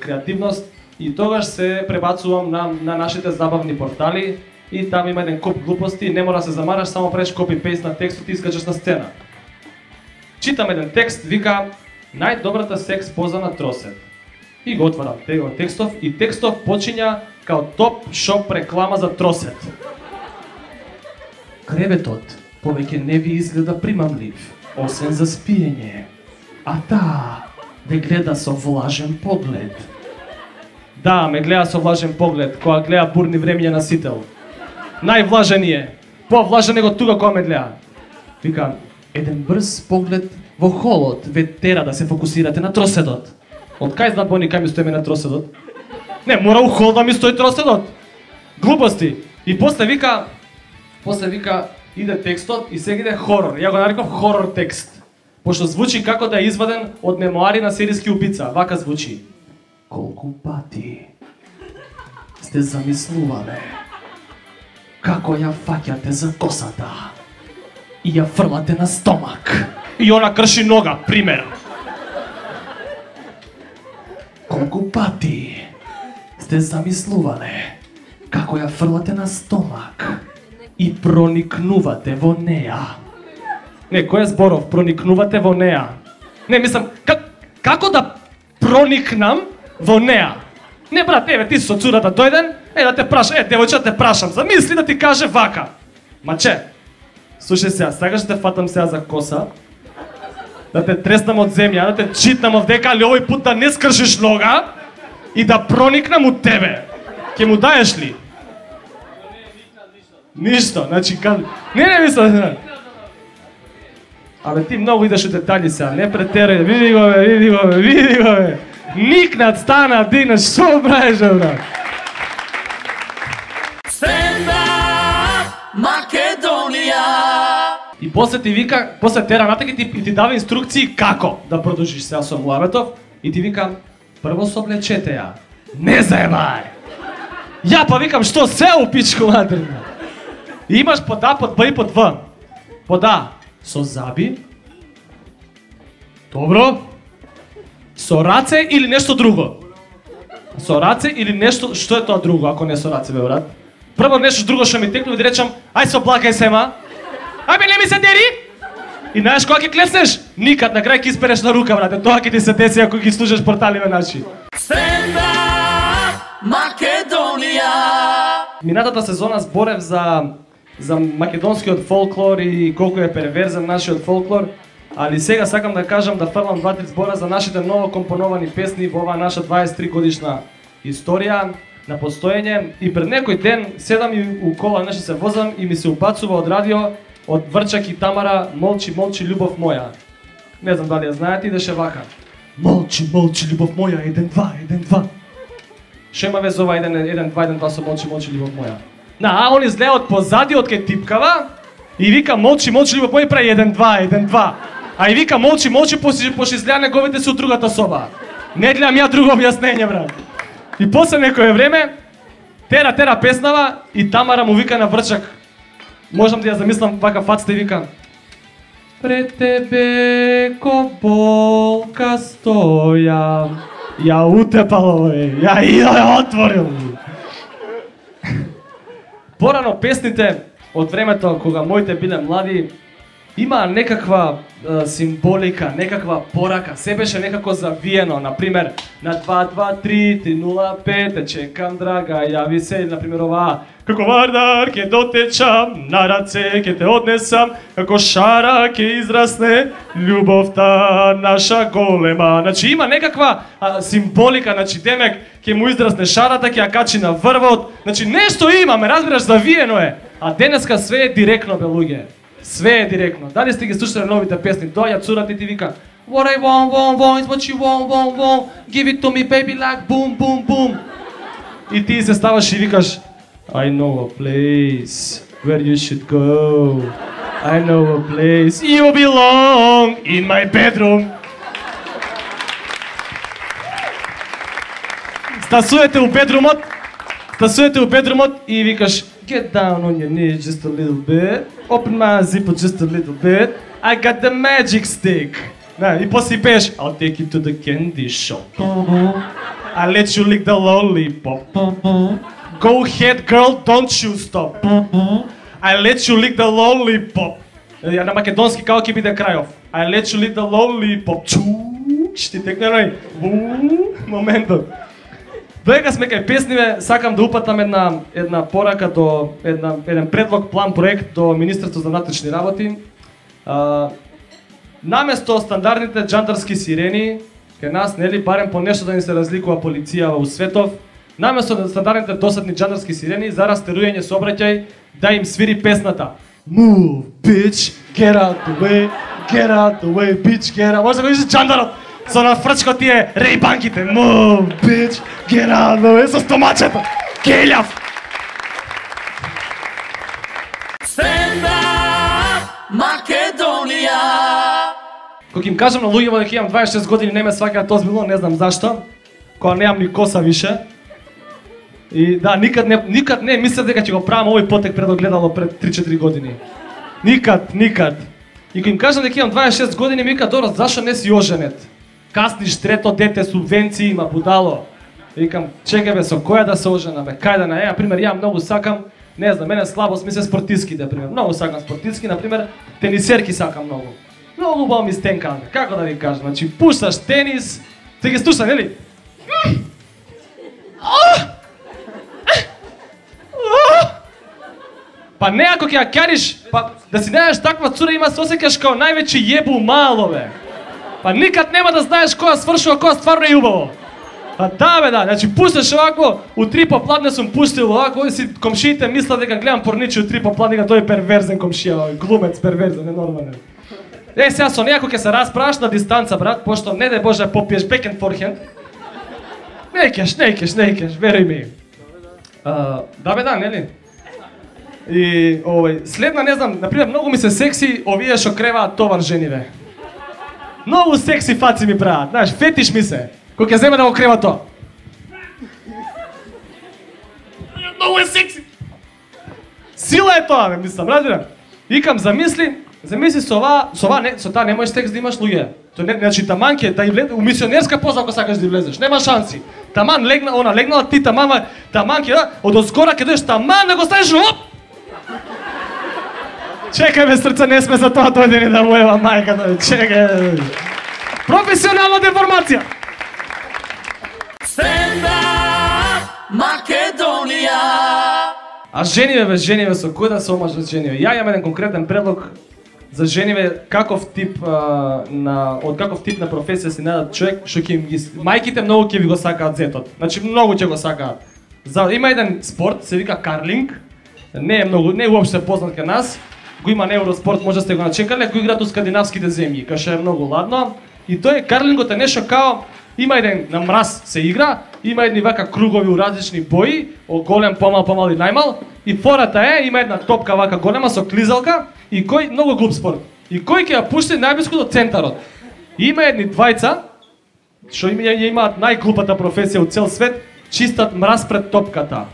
креативност и тогаш се пребацувам на нашите забавни портали и там има еден коп глупости, не мора да се замараш, само правиш копи-пейст на текстот и искачаш на сцена. Читам еден текст, вика најдобрата секс поза на тросет. И го отварам текстов и текстов почиња као топ шоп реклама за тросет. Креветот повеќе не ви изгледа примамлив, освен за спиење. А таа ве гледа со влажен поглед. Да, ме гледа со влажен поглед, кога гледа бурни времиња на Сител. Највлажен е, повлажен него тука кога ме гледа. Вика, еден брз поглед во холот ве тера да се фокусирате на троседот. Од кај знаат они кај ми стоиме на троседот? Не, мора у хол да ми стои троседот. Глупости. И после вика, иде текстот и сега иде хорор. Ја го нареков хорор текст. Пошто звучи како да е изваден од мемоари на серијски убица. Вака звучи. Колку пати сте замислувале како ја фаќате за косата и ја фрлате на стомак и она крши нога, пример. Колку пати сте замислувале како ја фрлате на стомак и проникнувате во неа. Не, кој е зборов? Проникнувате во неа. Не, мислам, како да проникнам во неа? Не, брат, еве, ти со цурата дојден, да те прашам, девојче, те прашам, замисли да ти каже вака. Маче, слушај сега, сакаш да те фатам сега за коса, да те треснам од земја, да те читнам овдека, али овој пут да не скршиш нога и да проникнам од тебе. Ке му даеш ли? Ништо, значи, не мислам. Абе, ти многу идеш у детали сега, не претерај, види го бе. Никнат, стана, дигнат, што правиш, брат? Stand up, Македонија. И после ти вика, после тера натаки и ти дава инструкции како да продолжиш сега со муабетов и ти вика, прво се облечете ја. Не заебај. Ја па викам, што се у пичку матерна? И имаш под А, под Б и под В. Под А со заби. Добро. Со раце или нешто друго? Со раце или нешто, што е тоа друго, ако не со раце, бе, брат? Прво нешто друго што ми текне, да речам, ај се облакај сема. Ајбе, не ми се дери! И знаеш кога ќе клеснеш? Никад, на крај ќе испереш на рука, брате. Тоа ќе ти се деси ако ги слушаш порталиве наши. Stand up, Македонија. Минатата сезона зборев за македонскиот фолклор и колку е перверзен нашиот фолклор, али сега сакам да кажам да фрлам 2-3 збора за нашите ново компоновани песни во оваа наша 23 годишна историја на постоење. И пред некој ден седам и у кола нешто се возам и ми се упацува од радио од Врчак и Тамара, молчи, молчи, љубов моја. Не знам дали ја знаете, идеше вака. Молчи, молчи, љубов моја, 1-2, 1-2. Што има вез ова 1-2, 1-2 со молчи, молчи, љубов моја? А он изгледа од позади, од кај типкава, и вика молчи, молчи, љубов моја, прави 1-2, 1-2. А и вика молчи, молчи, пошто изгледа неговите се од другата соба. Не гледам ја друго објаснење, брат. И после некое време, тера песнава и Тамара му вика на врчак. Можам да ја замислам вака фацата и вика: пред тебе ко болка стоја. Ја утепало, ја отворил. Порано песните од времето кога моите биле млади има некаква символика, некаква порака, се беше некако завиено, например, на 2-2-3-3-0-5, те чекам драга, јави се, например оваа, како вардар ќе дотечам, на раце ќе те однесам, како шара ќе израсне, љубовта наша голема. Значи има некаква символика, значи демек ќе му израсне шарата, ќе ја качи на врвот, значи нешто има, ме разбираш, завиено е, а денеска све е директно, бе луѓе. Све е директно. Дали сте ги слушали новите песни? Доаѓа цурата и ти вика What I want is what you want Give it to me baby like boom, boom, boom. И ти се ставаш и викаш I know a place where you should go. I know a place you belong in my bedroom. Стасувате у бедрумот и викаш Get down on your knees just a little bit. Open my zipper just a little bit. I got the magic stick. И после пееш I'll take you to the candy shop. I'll let you lick the lollipop. Go ahead girl, don't you stop. I'll let you lick the lollipop. Ја на македонски како ќе биде крајов. I'll let you lick the lollipop. Шти текне моментот. Доека сме кај песниве, сакам да упатам една порака до еден предлог, план, проект до Министерството за внатрешни работи. Наместо стандардните џандарски сирени, кај нас, нели, барем по нешто да ни се разликува полиција во светов, наместо стандардните досадни џандарски сирени, за растерујање сообраќај да им свири песната Move, bitch, get out the way, bitch, get out. Може да го видиш џандарот со на фрчко тие рейбанките. Move, bitch, get out the way, со стомачето. Келјав. Stand up, Македонија. Кога им кажам на луѓето дека имам 26 години, не ме сваќаат озбилно, не знам зашто. Кога немам ни коса више. И да, никад не мислев дека ќе го правам овој потек пред огледало пред 3-4 години. Никад. И кога им кажам дека имам 26 години, ми вика, добро, зашо не си оженет? Касниш трето дете, субвенции има, будало. Викам, чекај бе, со која да се ожена бе, кај да на например, ја многу сакам, не знам, мене слабост ми се спортистки, например. Многу сакам спортистки, например, тенисерки сакам многу. Многу убаво ми стенкам, како да ви кажам, значи пушташ тенис, ти ги слуша, нели? Па не ако ќе ја кариш, па да си најдеш таква цура има се осеќаш као највеќе јебу мало бе. Па никад нема да знаеш која свршува, која стварно е убаво. Па да бе да, значи пушташ овако, у 3 попладне сум пуштил овако, и си комшиите мислат дека гледам порничи у 3 попладне, дека тој е перверзен комшија, глумец перверзен, ненормален. Сега со нејако ќе се расправаш на дистанца, брат, пошто не дај Боже попиеш бекен форхенд. Не кеш, веруј ми. Да бе да, нели? И следна, не знам, например, многу ми се секси овие што креваат товар жениве. Многу секси фаци ми прават, знаеш, фетиш ми се. Кој ќе земе да го крева тоа. Многу е секси. Сила е тоа, ме мислам, разбирам. Викам, замисли со таа не можеш секс да имаш луѓе. Значи таман ќе да и влезе у мисионерска поза ако сакаш да влезеш, нема шанси. Таман легнала ти таман ќе од озгора ќе дојдеш таман да го ставиш оп. Чекај бе, срце, не сме за тоа дојдени да моева мајката, чекај. Професионална деформација. Stand up, Македонија. А жениве со кој да се омажат жениве? Ја имам еден конкретен предлог за жениве, каков тип од каков тип на професија си најдат човек што ќе им ги мајките многу ќе ви го сакаат зетот. Значи многу ќе го сакаат. Има еден спорт, се вика карлинг. Не е уопште познат кај нас. Го има на Евроспорт, може да сте го начекале, го играат у скандинавските земји, кај што е многу ладно. И тој карлингот е нешто као има еден на мраз се игра, има едни вака кругови у различни бои, голем, помал и најмал, и фората е има една топка вака голема со клизалка и кој многу глуп спорт. И кој ќе ја пушти најблиску до центарот. И има едни двајца што имаат најглупата професија у цел свет, чистат мраз пред топката.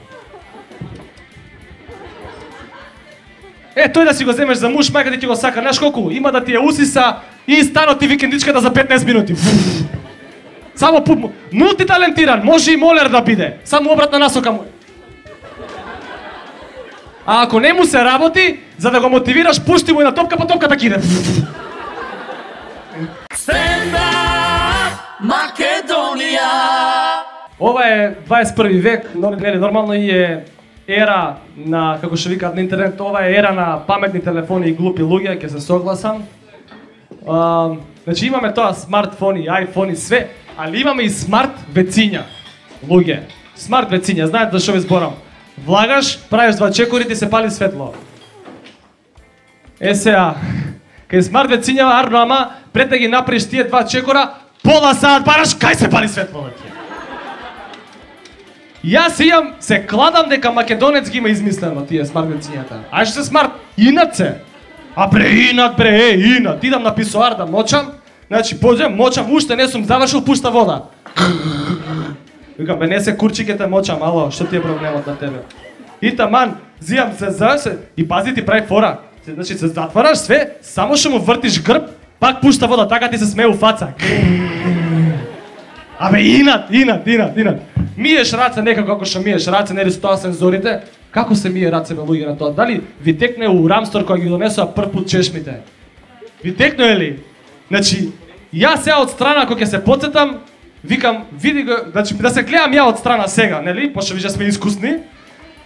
Тој да си го земеш за муж, мајка ти го сака, знаеш колку? Има да ти ја усиса и станот ти викендичката за 15 минути. Само мултиталентиран, може и молер да биде, само обратна насока му. А ако не му се работи, за да го мотивираш, пушти му и на топка, па топката киде. Stand-up Македонија. Ова е 21 век, нели нормално и е ера на, како што викаат на интернет, ова е ера на паметни телефони и глупи луѓе, ќе се согласам. Значи имаме тоа смартфони, айфони, све, али имаме и смарт вециња. Луѓе, смарт вециња, знаете за што ви зборам? Влагаш, правиш 2 чекори, ти се пали светло. Сега, кај смарт вецињава арно, ама пред да ги направиш тие 2 чекора, пола саат бараш, кај се пали светло? Јас се кладам дека македонец ги има измислено тие смарт вецињата. Ај што се смарт, инат се. А бре, инат. Идам на писоар да мочам, значи поđem, мочам, уште не сум завршил, пушта вода. Викам, бе, не се курчикете мочам, ало, што ти е проблемот на тебе? И таман, зијам се, и пази ти прави фора. Значи се затвараш све, само што му вртиш грб, пак пушта вода, така ти се смее у фаца. Абе, инат. Миеш раце некако како што миеш раце, нели со тоа сензорите? Како се мие раце бе луѓе на тоа? Дали ви текне у рамстор кога ги донесоа прв пат чешмите? Ви текне ли? Значи, јас сега од страна кога ќе се потсетам, викам, види го, значи да се гледам ја од страна сега, нели? Пошто више сме искусни.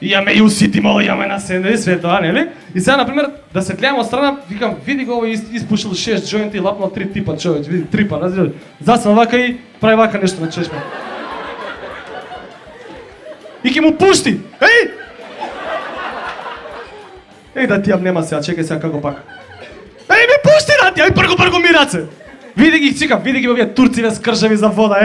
И ја ме и уситимо, ја ме наседи, све тоа, нели? И сега, например, да се гледам од страна, викам, види го овој испушил 6 джоинти и лапнал 3 типа човеч, види, 3 па, разбираш? Засна вака и прави вака нешто на чешма. И ќе му пушти. Еј да ти јам нема сега, чекај сега како пак. Ми пушти да ти, прго ми раце. Види ги, чекам, види ги овие турциве скршави за вода,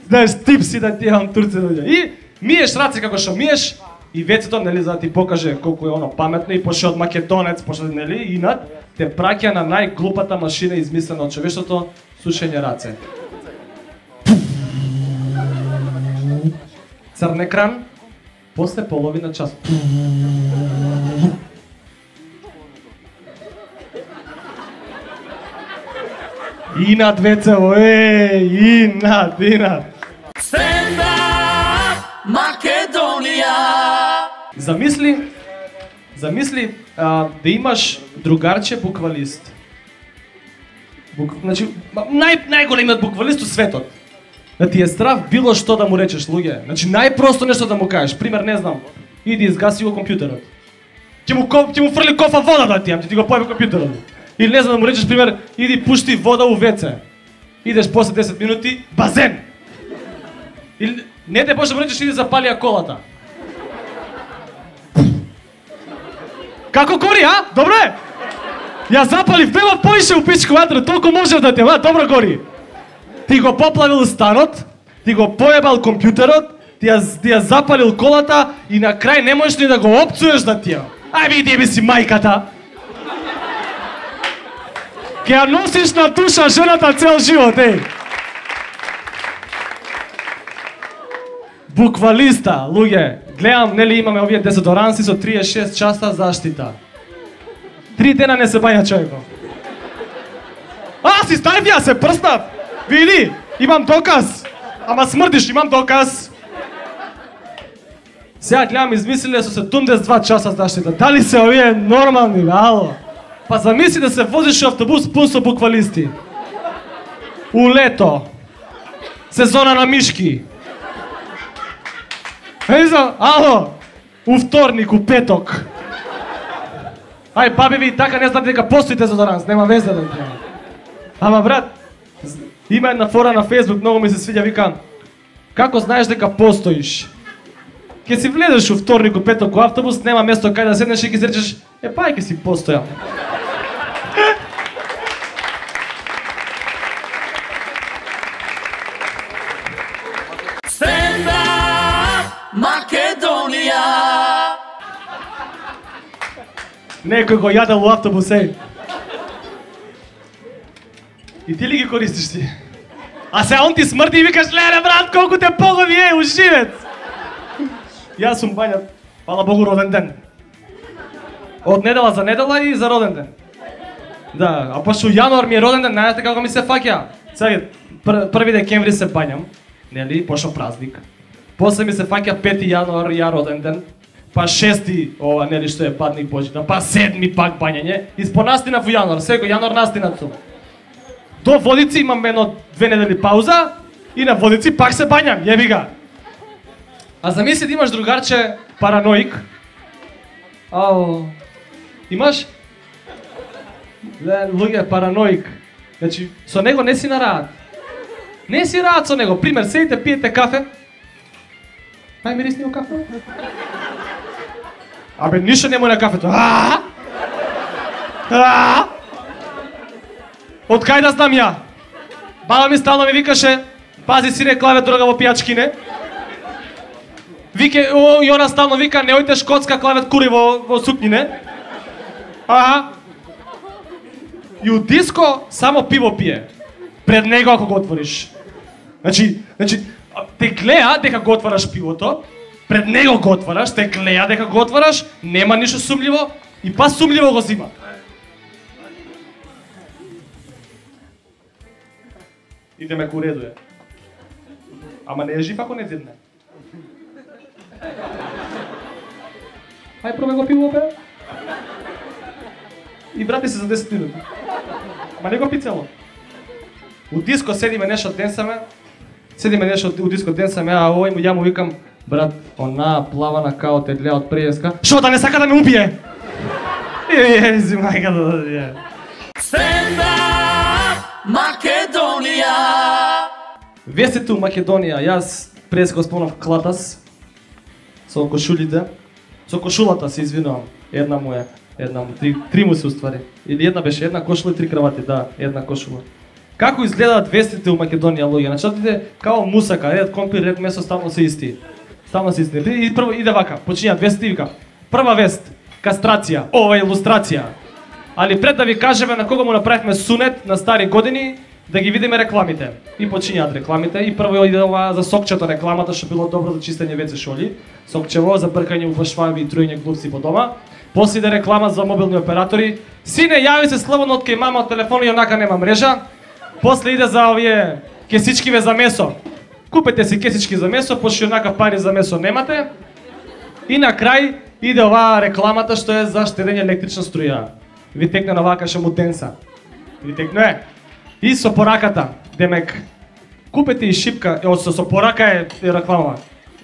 знаеш, типси да ти јам турци дојде. И миеш раце како што миеш, и вецето, нели, за да ти покаже колку е оно паметно, и пошто од македонец, пошто, нели, инат, те праќа на најглупата машина измислена од човештвото, сушење раце. Црн екран, после половина час. Инат вецево, инат. Stand-up Македонија. Замисли да имаш другарче буквалист. Значи, најголемиот буквалист у светот. Да ти е страв било што да му речеш, луѓе. Значи, најпросто нешто да му кажеш. Пример, не знам, иди изгаси го компјутерот. Ќе му фрли кофа вода да ти ти го појави компјутерот. Или не знам да му речеш, пример, иди пушти вода у веце. Идеш после 10 минути, базен. Или не те може да му речеш, иди запали ја колата. Како гори, а? Добре? Ја запалив, нема поише у пичко ватра, толку можев да те, добро гори. Ти го поплавил станот, ти го поебал компјутерот, ти ја запалил колата и на крај не можеш ни да го опцуеш да ти ја. Ај види би си мајката. Ке ја носиш на душа жената цел живот, Буквалиста, луѓе, гледам, нели имаме овие дезодоранси со 36 часа заштита. 3 дена не се бања човеко. Си стави, ја се прснав. Види, имам доказ. Ама смрдиш, имам доказ. Сега гледам, измислиле со 72 часа заштита. Дали се овие нормални, ало? Па замисли да се возиш у автобус пун со буквалисти. У лето. Сезона на мишки. Ало, у вторник, у петок. Ај, баби ви, така не знам дека постои дезодоранс, нема везе да треба. Ама брат, има една фора на Facebook, многу ми се свиѓа, викам, како знаеш дека постоиш? Ке си влезеш у вторник, у петок, у автобус, нема место кај да седнеш и ги речеш, па ке си постојам. Некој го јадел у автобусе. И ти ли ги користиш ти? А се он ти смрди и викаш, леле брат, колку те погови уживец. Јас сум бања, фала Богу, роден ден. Од недела за недела и за роден ден. Да, а пошто јануар ми е роден ден, знаете како ми се фаќа. Сега, 1 декември се бањам, нели, пошто празник. После ми се фаќа 5 јануар, ја роден ден. Па 6 ова, нели, што е падник Божидан, па 7 пак бањање. И спонастинав во јануар, секој јануар настинат сум. До Водици имам едно 2 недели пауза и на Водици пак се бањам, јеби га. А замисли да имаш другарче параноик. Ау, имаш? Луѓе параноик. Значи, со него не си на раат. Не си раат со него. Пример, седите, пиете кафе. Ај мирисни во кафе. Абе, ништо нема на кафето. Од кај да знам ја? Баба ми стално ми викаше, пази сине клаве дрога во пијачкине. Вике, и она стално вика, не ојте шкотска клавет кури во сукњине. И у диско само пиво пие. Пред него ако го отвориш. Значи, те гледа дека го отвараш пивото, пред него го отвараш, те гледа дека го отвараш, нема ништо сумливо и па сумливо го зима. Идеме ку редуе. Ама не е жив ако не зидне. Ај пробај го пиво, бе. И врати се за 10 минути. Ама не го пи цело. У диско седиме нешто денсаме. У диско денсаме, а овој ја му викам, брат, она плавана као те гледа од преска. Шо да не сака да ме убие? Ези мајка да. Stand up, Македонија! Вестите у Македонија, јас прес го спомнав клатас со кошулите. Со кошулата се извинувам. Една му е, три му се уствари. Или една беше, една кошула и 3 кравати, да, една кошула. Како изгледаат вестите у Македонија, луѓе? Начатите као мусака, ред компир, ред месо, стално се исти. И прво иде вака, почињаат вестите и вика. Прва вест, кастрација, ова е илустрација. Али пред да ви кажеме на кого му направивме сунет на стари години, да ги видиме рекламите. И почињаат рекламите. И прво иде ова за сокчето рекламата, што било добро за чистење WC шоли. Сокчево за бркање во шваби и труење глупци по дома. После иде реклама за мобилни оператори. Сине, јави се слободно од кај мама од телефон и онака нема мрежа. После иде за овие кесичкиве за месо. Купете си кесички за месо, пошто онака пари за месо немате. И на крај иде оваа рекламата што е за штедење електрична струја. Ви текне на вака шаму денса. Ви текне. И со пораката, демек, купете и шипка, со порака е реклама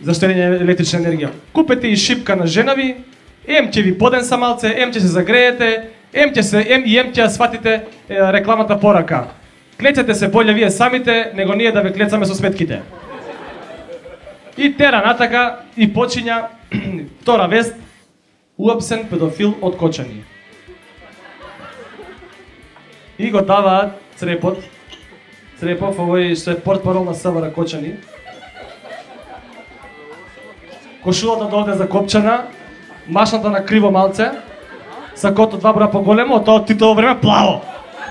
за штедење електрична енергија. Купете и шипка на женави, ќе ви поденса малце, ќе се загреете, ќе ја сватите рекламата порака. Клечете се боле вие самите, него ние да ве клецаме со сметките. И тера натака и почиња втора вест, уапсен педофил од Кочани. И го даваат Црепов, овој што е портпарол на СВР Кочани. Кошулата дојде закопчана, машната на криво малце, сакото 2 броја поголемо, тоа од Титово време плаво.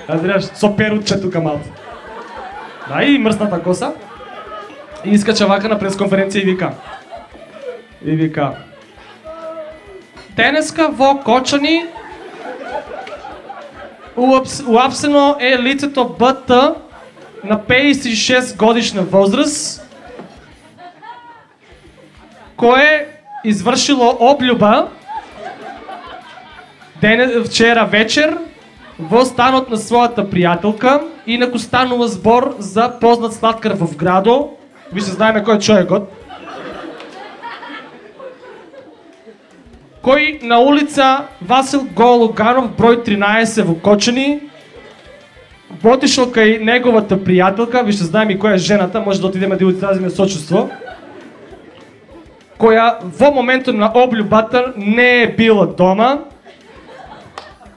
Разбираш, со перутче тука малце. Да, и мрсната коса. И искача вака на пресконференција и вика. Денеска во Кочани уапсено е лицето БТ на 56 годишна возраст, кое извршило облюба вчера вечер во станот на својата пријателка, инаку станува збор за познат слаткар во Вградо. Ви се знаеме кој е човекот. Кој на улица Васил Гологанов, број 13 во Кочани, отишол кај неговата пријателка, више знаеме и која е жената, може да отидеме да ја изразиме сочувство, која во моментот на облюбата не е била дома.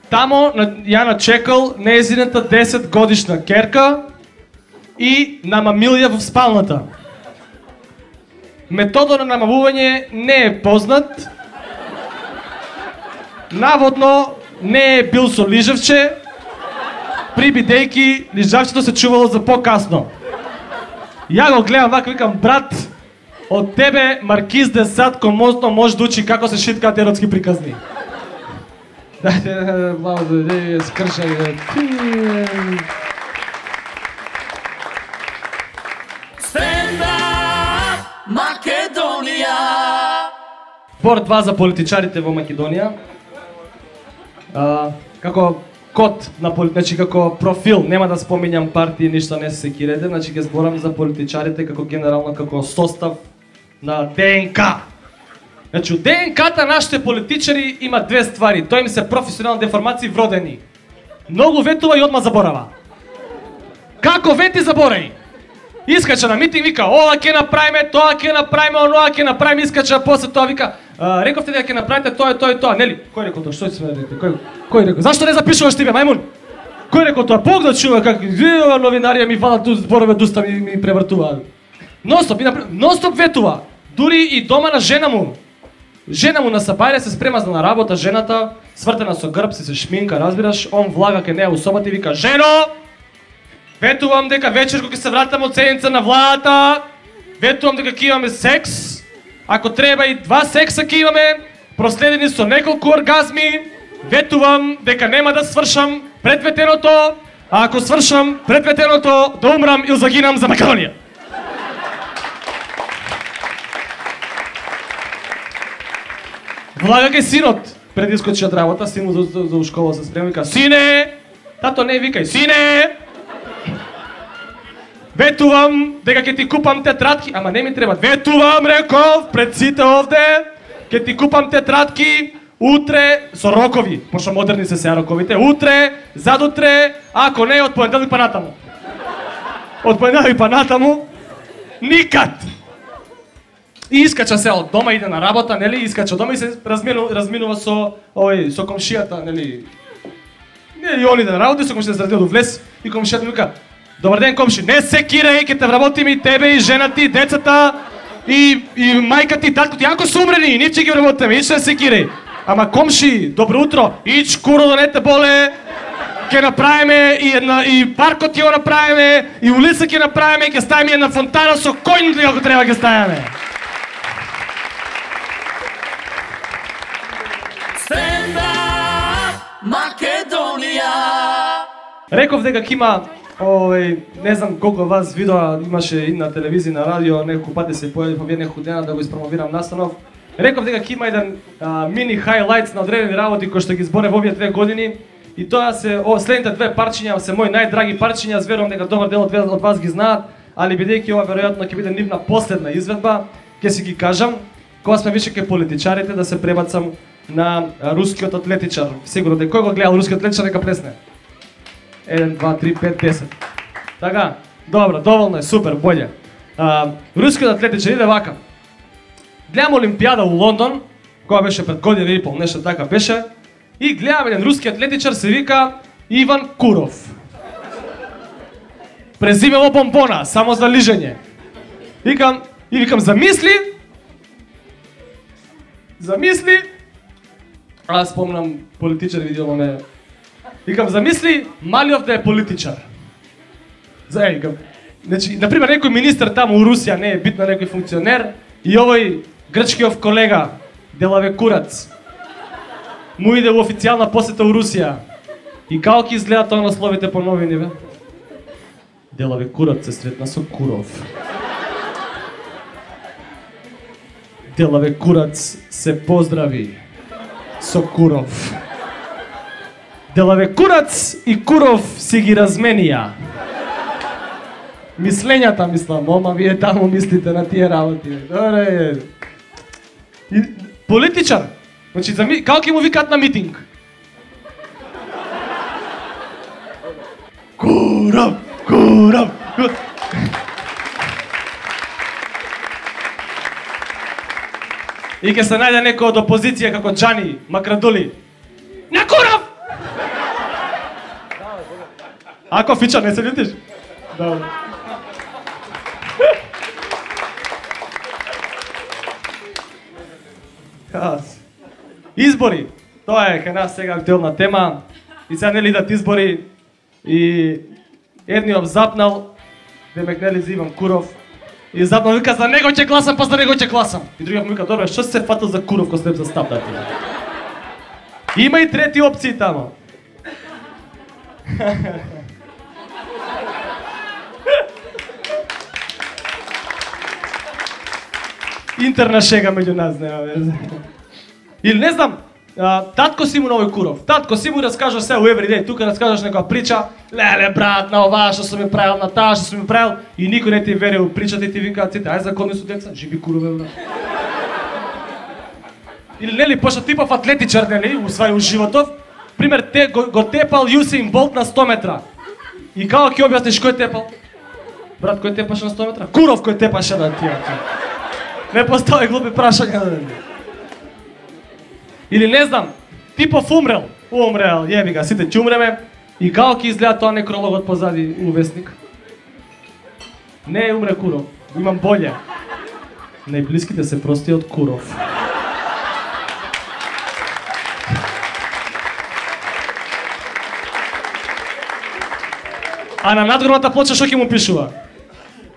Тамо ја начекал нејзината 10 годишна керка и намамил ја во спалната. Методот на намамување не е познат. Наводно не е бил со лижевче, при бидејќи лижавчето се чувало за по-касно. Ја го гледам вака, викам, брат, од тебе Маркиз де Сад комозно може да учи како се шиткаат еротски приказни. Дајте, мало да скршај. Stand-up Македонија. Бор 2 за политичарите во Македонија. Како код на значи како профил, нема да споминјам партии, ништо не се секирете, значи ќе зборам за политичарите како генерално како состав на ДНК. Значи, од ДНК-та нашите политичари има две ствари. Тоа им се професионални деформации вродени. Многу ветува и одма заборава. Како вети заборај? Искача на митинг, вика, ова ќе направиме, тоа ќе направиме, оноа ќе направиме, искача, после тоа вика, рековте дека ќе направите тоа и тоа, нели? Кој рекол тоа? Што ќе се рекол? Кој рекол? Зашто не запишуваш ти бе, мајмун? Кој рекол тоа? Бог да чува како новинарија ми фалат ту зборове дуста ми превртуваат. Ностоп ветува. Дури и дома на жена му. Жена му на сабајле се спрема за на работа, жената свртена со грб, се шминка, разбираш, он влага ке неа у собата и вика, жено, ветувам дека вечер кога ќе се вратам од седница на владата, ветувам дека ќе имаме секс, ако треба и 2 секса ќе имаме, проследени со неколку оргазми, ветувам дека нема да свршам пред ветеното, а ако свршам пред ветеното, да умрам или загинам за Македонија. Влага ке синот, пред искочи од работа, син му за школа се спрема, вика, сине, тато не викај, сине, ветувам дека ќе ти купам тетрадки, ама не ми треба, ветувам, реков, пред сите овде, ќе ти купам тетрадки, утре, со рокови, пошто модерни се сега роковите, утре, задутре, ако не, од понеделник па натаму. Од понеделник па натаму, никад! И искача се од дома, иде на работа, нели, искача од дома и се разминува со со комшијата, нели. И он иде на работа, и со комшијата се разминува до влез и комшијата ми вика: "Добар ден, комши, не се кирај, ќе те вработиме и тебе и жена ти, децата и мајка ти, татко ти, ако се умрени, нив ќе ги вработиме, ич не се кирај. Ама комши, добро утро, ич куро да не те боле. Ќе направиме и паркот ќе го направиме, и улица ќе направиме, ќе ставиме една фонтана со коњ како треба ќе ставиме." Stand-up Македонија. Реков дека ќе има, не знам колку вас видоа имаше и на телевизија, на радио, неколку пати се појави неколку дена да го испромовирам настанов. Реков дека ќе има еден мини хайлайтс на одредени работи кои што ги зборев овие 2 години. И тоа се следните 2 парчиња се мои најдраги парчиња, верувам дека добар дел од вас ги знаат, али бидејќи ова веројатно ќе биде нивна последна изведба, ќе си ги кажам, кога сме више ке политичарите да се пребацам на рускиот атлетичар. Сигурно дека кој го гледал рускиот атлетичар нека плесне. 1, 2, 3, 5, 10. Така, добро, доволно е, супер, боле. Рускиот атлетичар иде вака. Гледам Олимпијада у Лондон, која беше пред година и пол, нешто така беше, и гледам еден руски атлетичар се вика Иван Куров. Презимево бомбона, само за лижење. Викам, замисли, аз спомнам политичар, видимо ме. Викам, замисли Малиов да е политичар. Викам, значи, например, некој министер таму у Русија, не е битно некој функционер, и овој грчкиов колега, Делаве Курац, му иде у официјална посета у Русија. И како ќе изгледа тоа на словите по новини, бе? Делаве Курац се сретна со Куров. Делаве Курац се поздрави со Куров. Делаве Курац и Куров си ги разменија. Мислењата, мислам, ома вие таму мислите на тие работи. Добре. Политичар. Значи, како ќе му викаат на митинг? Куров, Куров. И ќе се најде некој од опозиција како Џани Макрадули. На Куров! Ако фича, не се лютиш? Добро. Избори. Тоа е кај нас сега актуелна тема. И сега нели идат избори и едниот запнал, демек нели за Иван Куров. И запнал вика за него ќе гласам, па за него ќе гласам. И другиот му вика добре, што се фатил за Куров кој се за стап да ти? Има и трети опции тамо. Интерна шега меѓу нас, нема везе. Или не знам, татко си му на овој Куров. Татко си му раскажа се у Everyday, тука раскажаш некоја прича, леле брат, на ова што сум ми правил, на таа што сум ми правил, и никој не ти верува у причата и ти викаат сите, ај закони су деца, живи Курове, брат. Или нели, пошто типов атлетичар, нели, у својот животов, пример, го тепал Юсейн Болт на 100 метра. И како ќе објасниш кој тепал? Брат, кој тепаше на 100 метра? Куров кој тепаше на тие. Не постави глупи прашања. Или не знам, типов умрел, јеби ga, сите ќе умреме. И како ќе изгледа тоа некрологот позади у весник? Не умре Куров, имам болje. Најблиските се прости од Куров. А на надгорната плоча што ќе му пишува?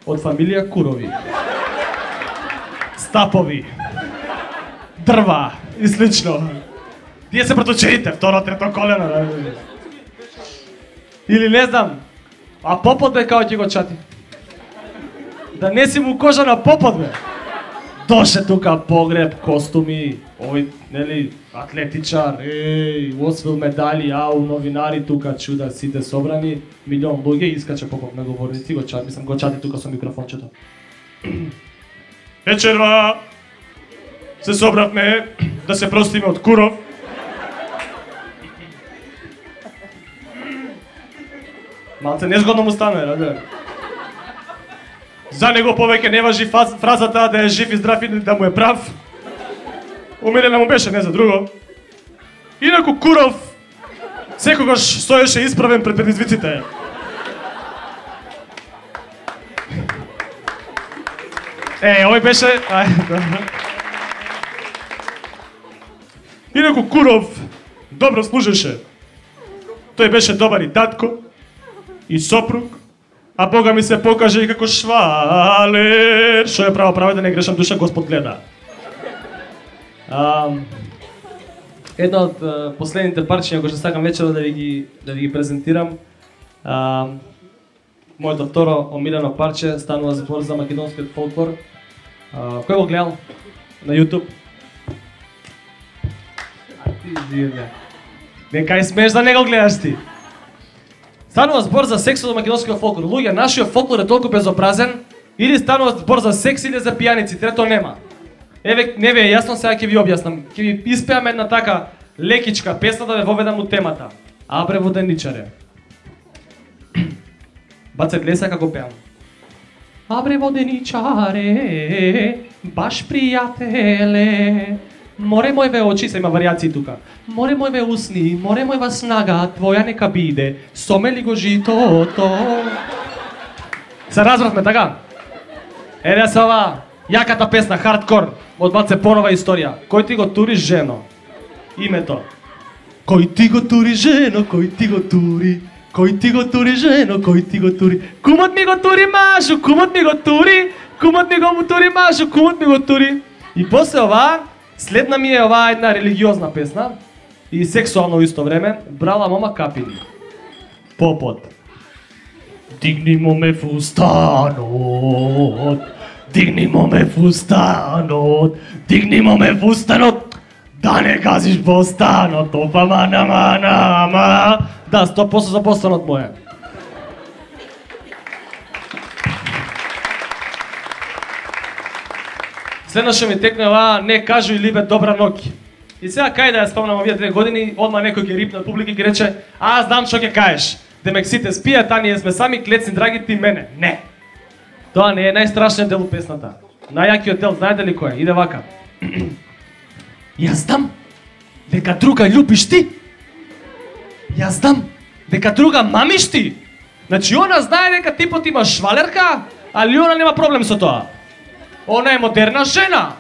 Од фамилија Курови. Стапови. Дрва и слично. Тие се проточеите, второ, трето колено. Или не знам, а попот бе како ќе го чати? Да не си му кожа на попот бе. Доше тука погреб, костуми, овој, нели, атлетичар, освил медали, новинари тука чуда сите собрани, милион луѓе, искача попот на говорници, го чати, мислам го чати тука со микрофончето. Вечерва се собравме да се простиме од Куров. Малце незгодно му стана, раде. За него повеќе не важи фразата да е жив и здрав и да му е прав. Умирена му беше, не за друго. Инаку Куров секогаш стоеше исправен пред предизвиците. Овој беше... Инаку Куров добро служеше. Тој беше добар и татко, и сопруг, а Бога ми се покаже и како швалер. Шо е право, да не грешам душа, Господ гледа. Едно од последните парчиња кои што сакам вечера да ви ги презентирам. Моето второ омилено парче станува збор за македонскиот фолклор. Кој го гледал на YouTube? Не кај смееш да не го гледаш ти. Станува збор за секс од македонскиот фолклор. Луѓе, нашиот фолклор е толку безобразен, или станува збор за секс или за пијаници, трето нема. Еве, не ви е јасно, сега ќе ви објаснам. Ќе ви испеам една така лекичка песна да ве воведам у темата. Абре воденичаре. Баце, гледа сега како пеам. Абре воденичаре, баш пријателе, море мојве очи, се има варијации тука. Море мојве усни, море мојва снага, твоја нека биде, сомели го житото. Се разбравме, така? Еде се ова јаката песна, хардкор, од Баце понова историја. Кој ти го тури, жено? Името. Кој ти го тури, жено, кој ти го тури? Кој ти го тури, жено, кој ти го тури? Кумот ми го тури, мажу, кумот ми го тури, кумот ми го тури, мажу, кумот ми го тури. И после ова, следна ми е оваа една религиозна песна и сексуално исто време, брала мома капини. Попот. Дигни моме фустанот, дигни моме фустанот, дигни моме фустанот, да не газиш постанот, опа мана мана ма. Да, 100% за постанот моје. Следно што ми текнува, не кажу и либе добра ноќ. И сега кај да ја спомнам овие 2 години, одма некој ќе рипна публика и ќе рече, а знам што ќе кажеш. Демек сите спијат, а ние сме сами клецни драги ти мене. Не. Тоа не е најстрашниот дел у песната. Најјакиот дел, знаете ли кој е? Иде вака. Јас знам дека друга љубиш ти. Јас знам дека друга мамиш ти. Значи она знае дека типот има швалерка, али она нема проблем со тоа. Она е модерна жена.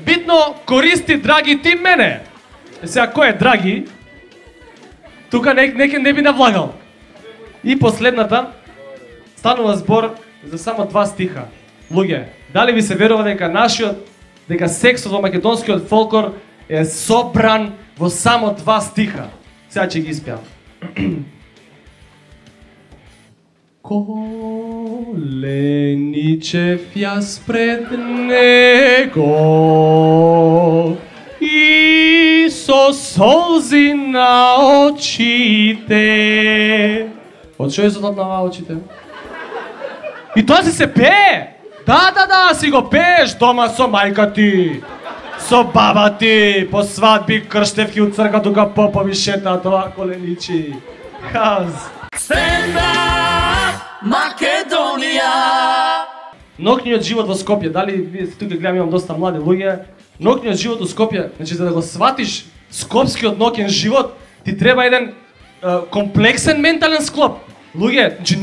Битно користи драги ти мене. Сега кој е Драги? Тука не би навлагал. И последната станува збор за само 2 стиха. Луѓе, дали ви се верува дека сексот во македонскиот фолклор е собран во само 2 стиха? Сега ќе ги испеам. Коленичев јас пред него и со солзи на очите. Од што е зодот на очите? И тоа си се пее! Да, си го пееш дома со мајка ти, со баба ти, по свадби, крштевки од црква, тука попови шетаат ова коленичи. Хаз. Stand up, Македонија! Ноќниот живот во Скопје, дали вие тука гледам имам доста млади луѓе, ноќниот живот во Скопје, значи за да го сватиш скопскиот ноќен живот, ти треба еден комплексен ментален склоп. Луѓе, значи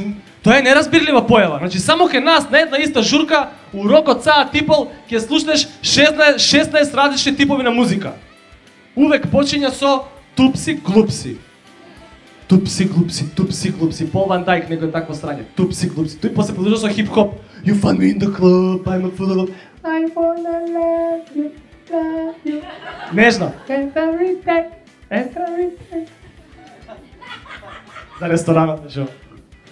тоа е неразбирлива појава. Значи само кај нас на една иста журка, урокот саат типол, ќе слушнеш 16 различни типови на музика. Увек почиња со тупси глупси. Тупси глупси, Пол Ван Дайк некој такво срање. Тупси глупси. Тој после продолжува со хип-хоп. You find me in the club, I'm a fool of... I wanna love you. Нежно. Every day. За ресторанот, нешо.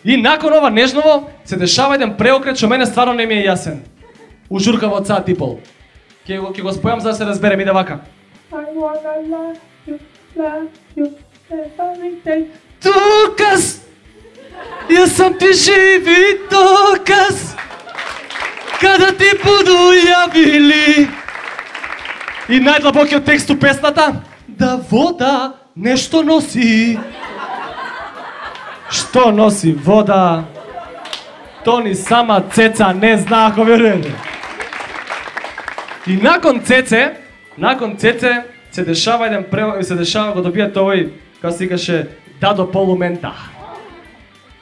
И након ова нежново се дешава еден преокрет што мене стварно не ми е јасен. У журка во цаа типол. Ќе го спојам за да се разберем, иде вака. I wanna love you every day. Доказ! Јас сум ти живи доказ! Када ти буду јавили. И најдлабокиот текст у песната. Да вода нешто носи. Што носи вода? То ни сама Цеца не знаа ако верувате. И након Цеце се дешава еден се дешава го добијате овој, како се викаше, Дадо Полумента.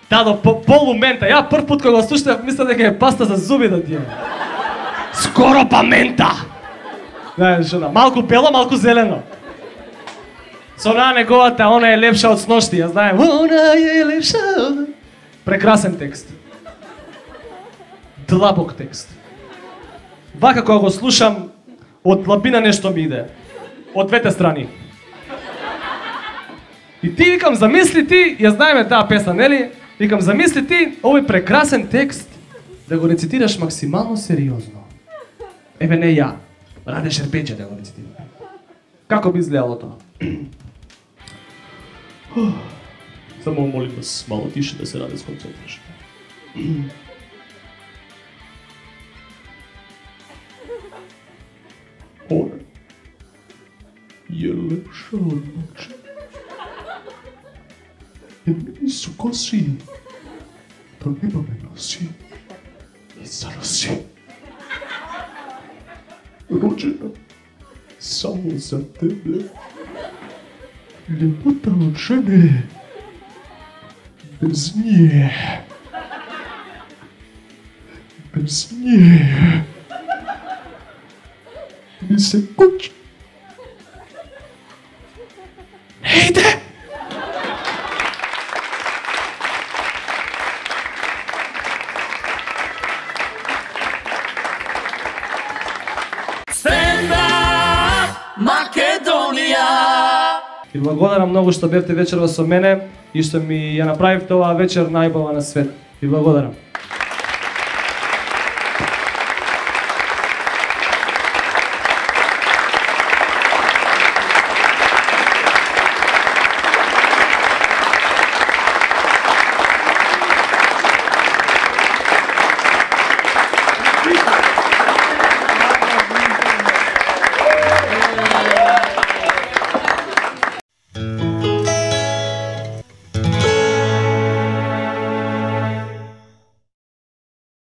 Дадо Полумента. Ја прв пат кога го слушнав мислев дека е паста за зуби да ти е. Скоро па мента. Знаеш што, малку бело, малку зелено. Со онаа неговата, она е лепша од сношти, ја знаем. Она е лепша. Прекрасен текст. Длабок текст. Вака кога го слушам, од длабина нешто ми иде. Од двете страни. И ти викам, замисли ти, ја знаеме таа песна, нели? Викам, замисли ти овој прекрасен текст да го рецитираш максимално сериозно. Еве не ја, Раде Шербеџе да го рецитира. Како би изгледало тоа? Само молим вас мало тише да се Раде сконцентрираш. Она е лепша од ночи. И су коси, то нема ме носи и заноси. Роđена само за тебе, лепота од жене, без нje ми се кучи. Не иде! Македонија! Ви благодарам многу што бевте вечерва со мене и што ми ја направивте оваа вечер најубава на свет. Ви благодарам.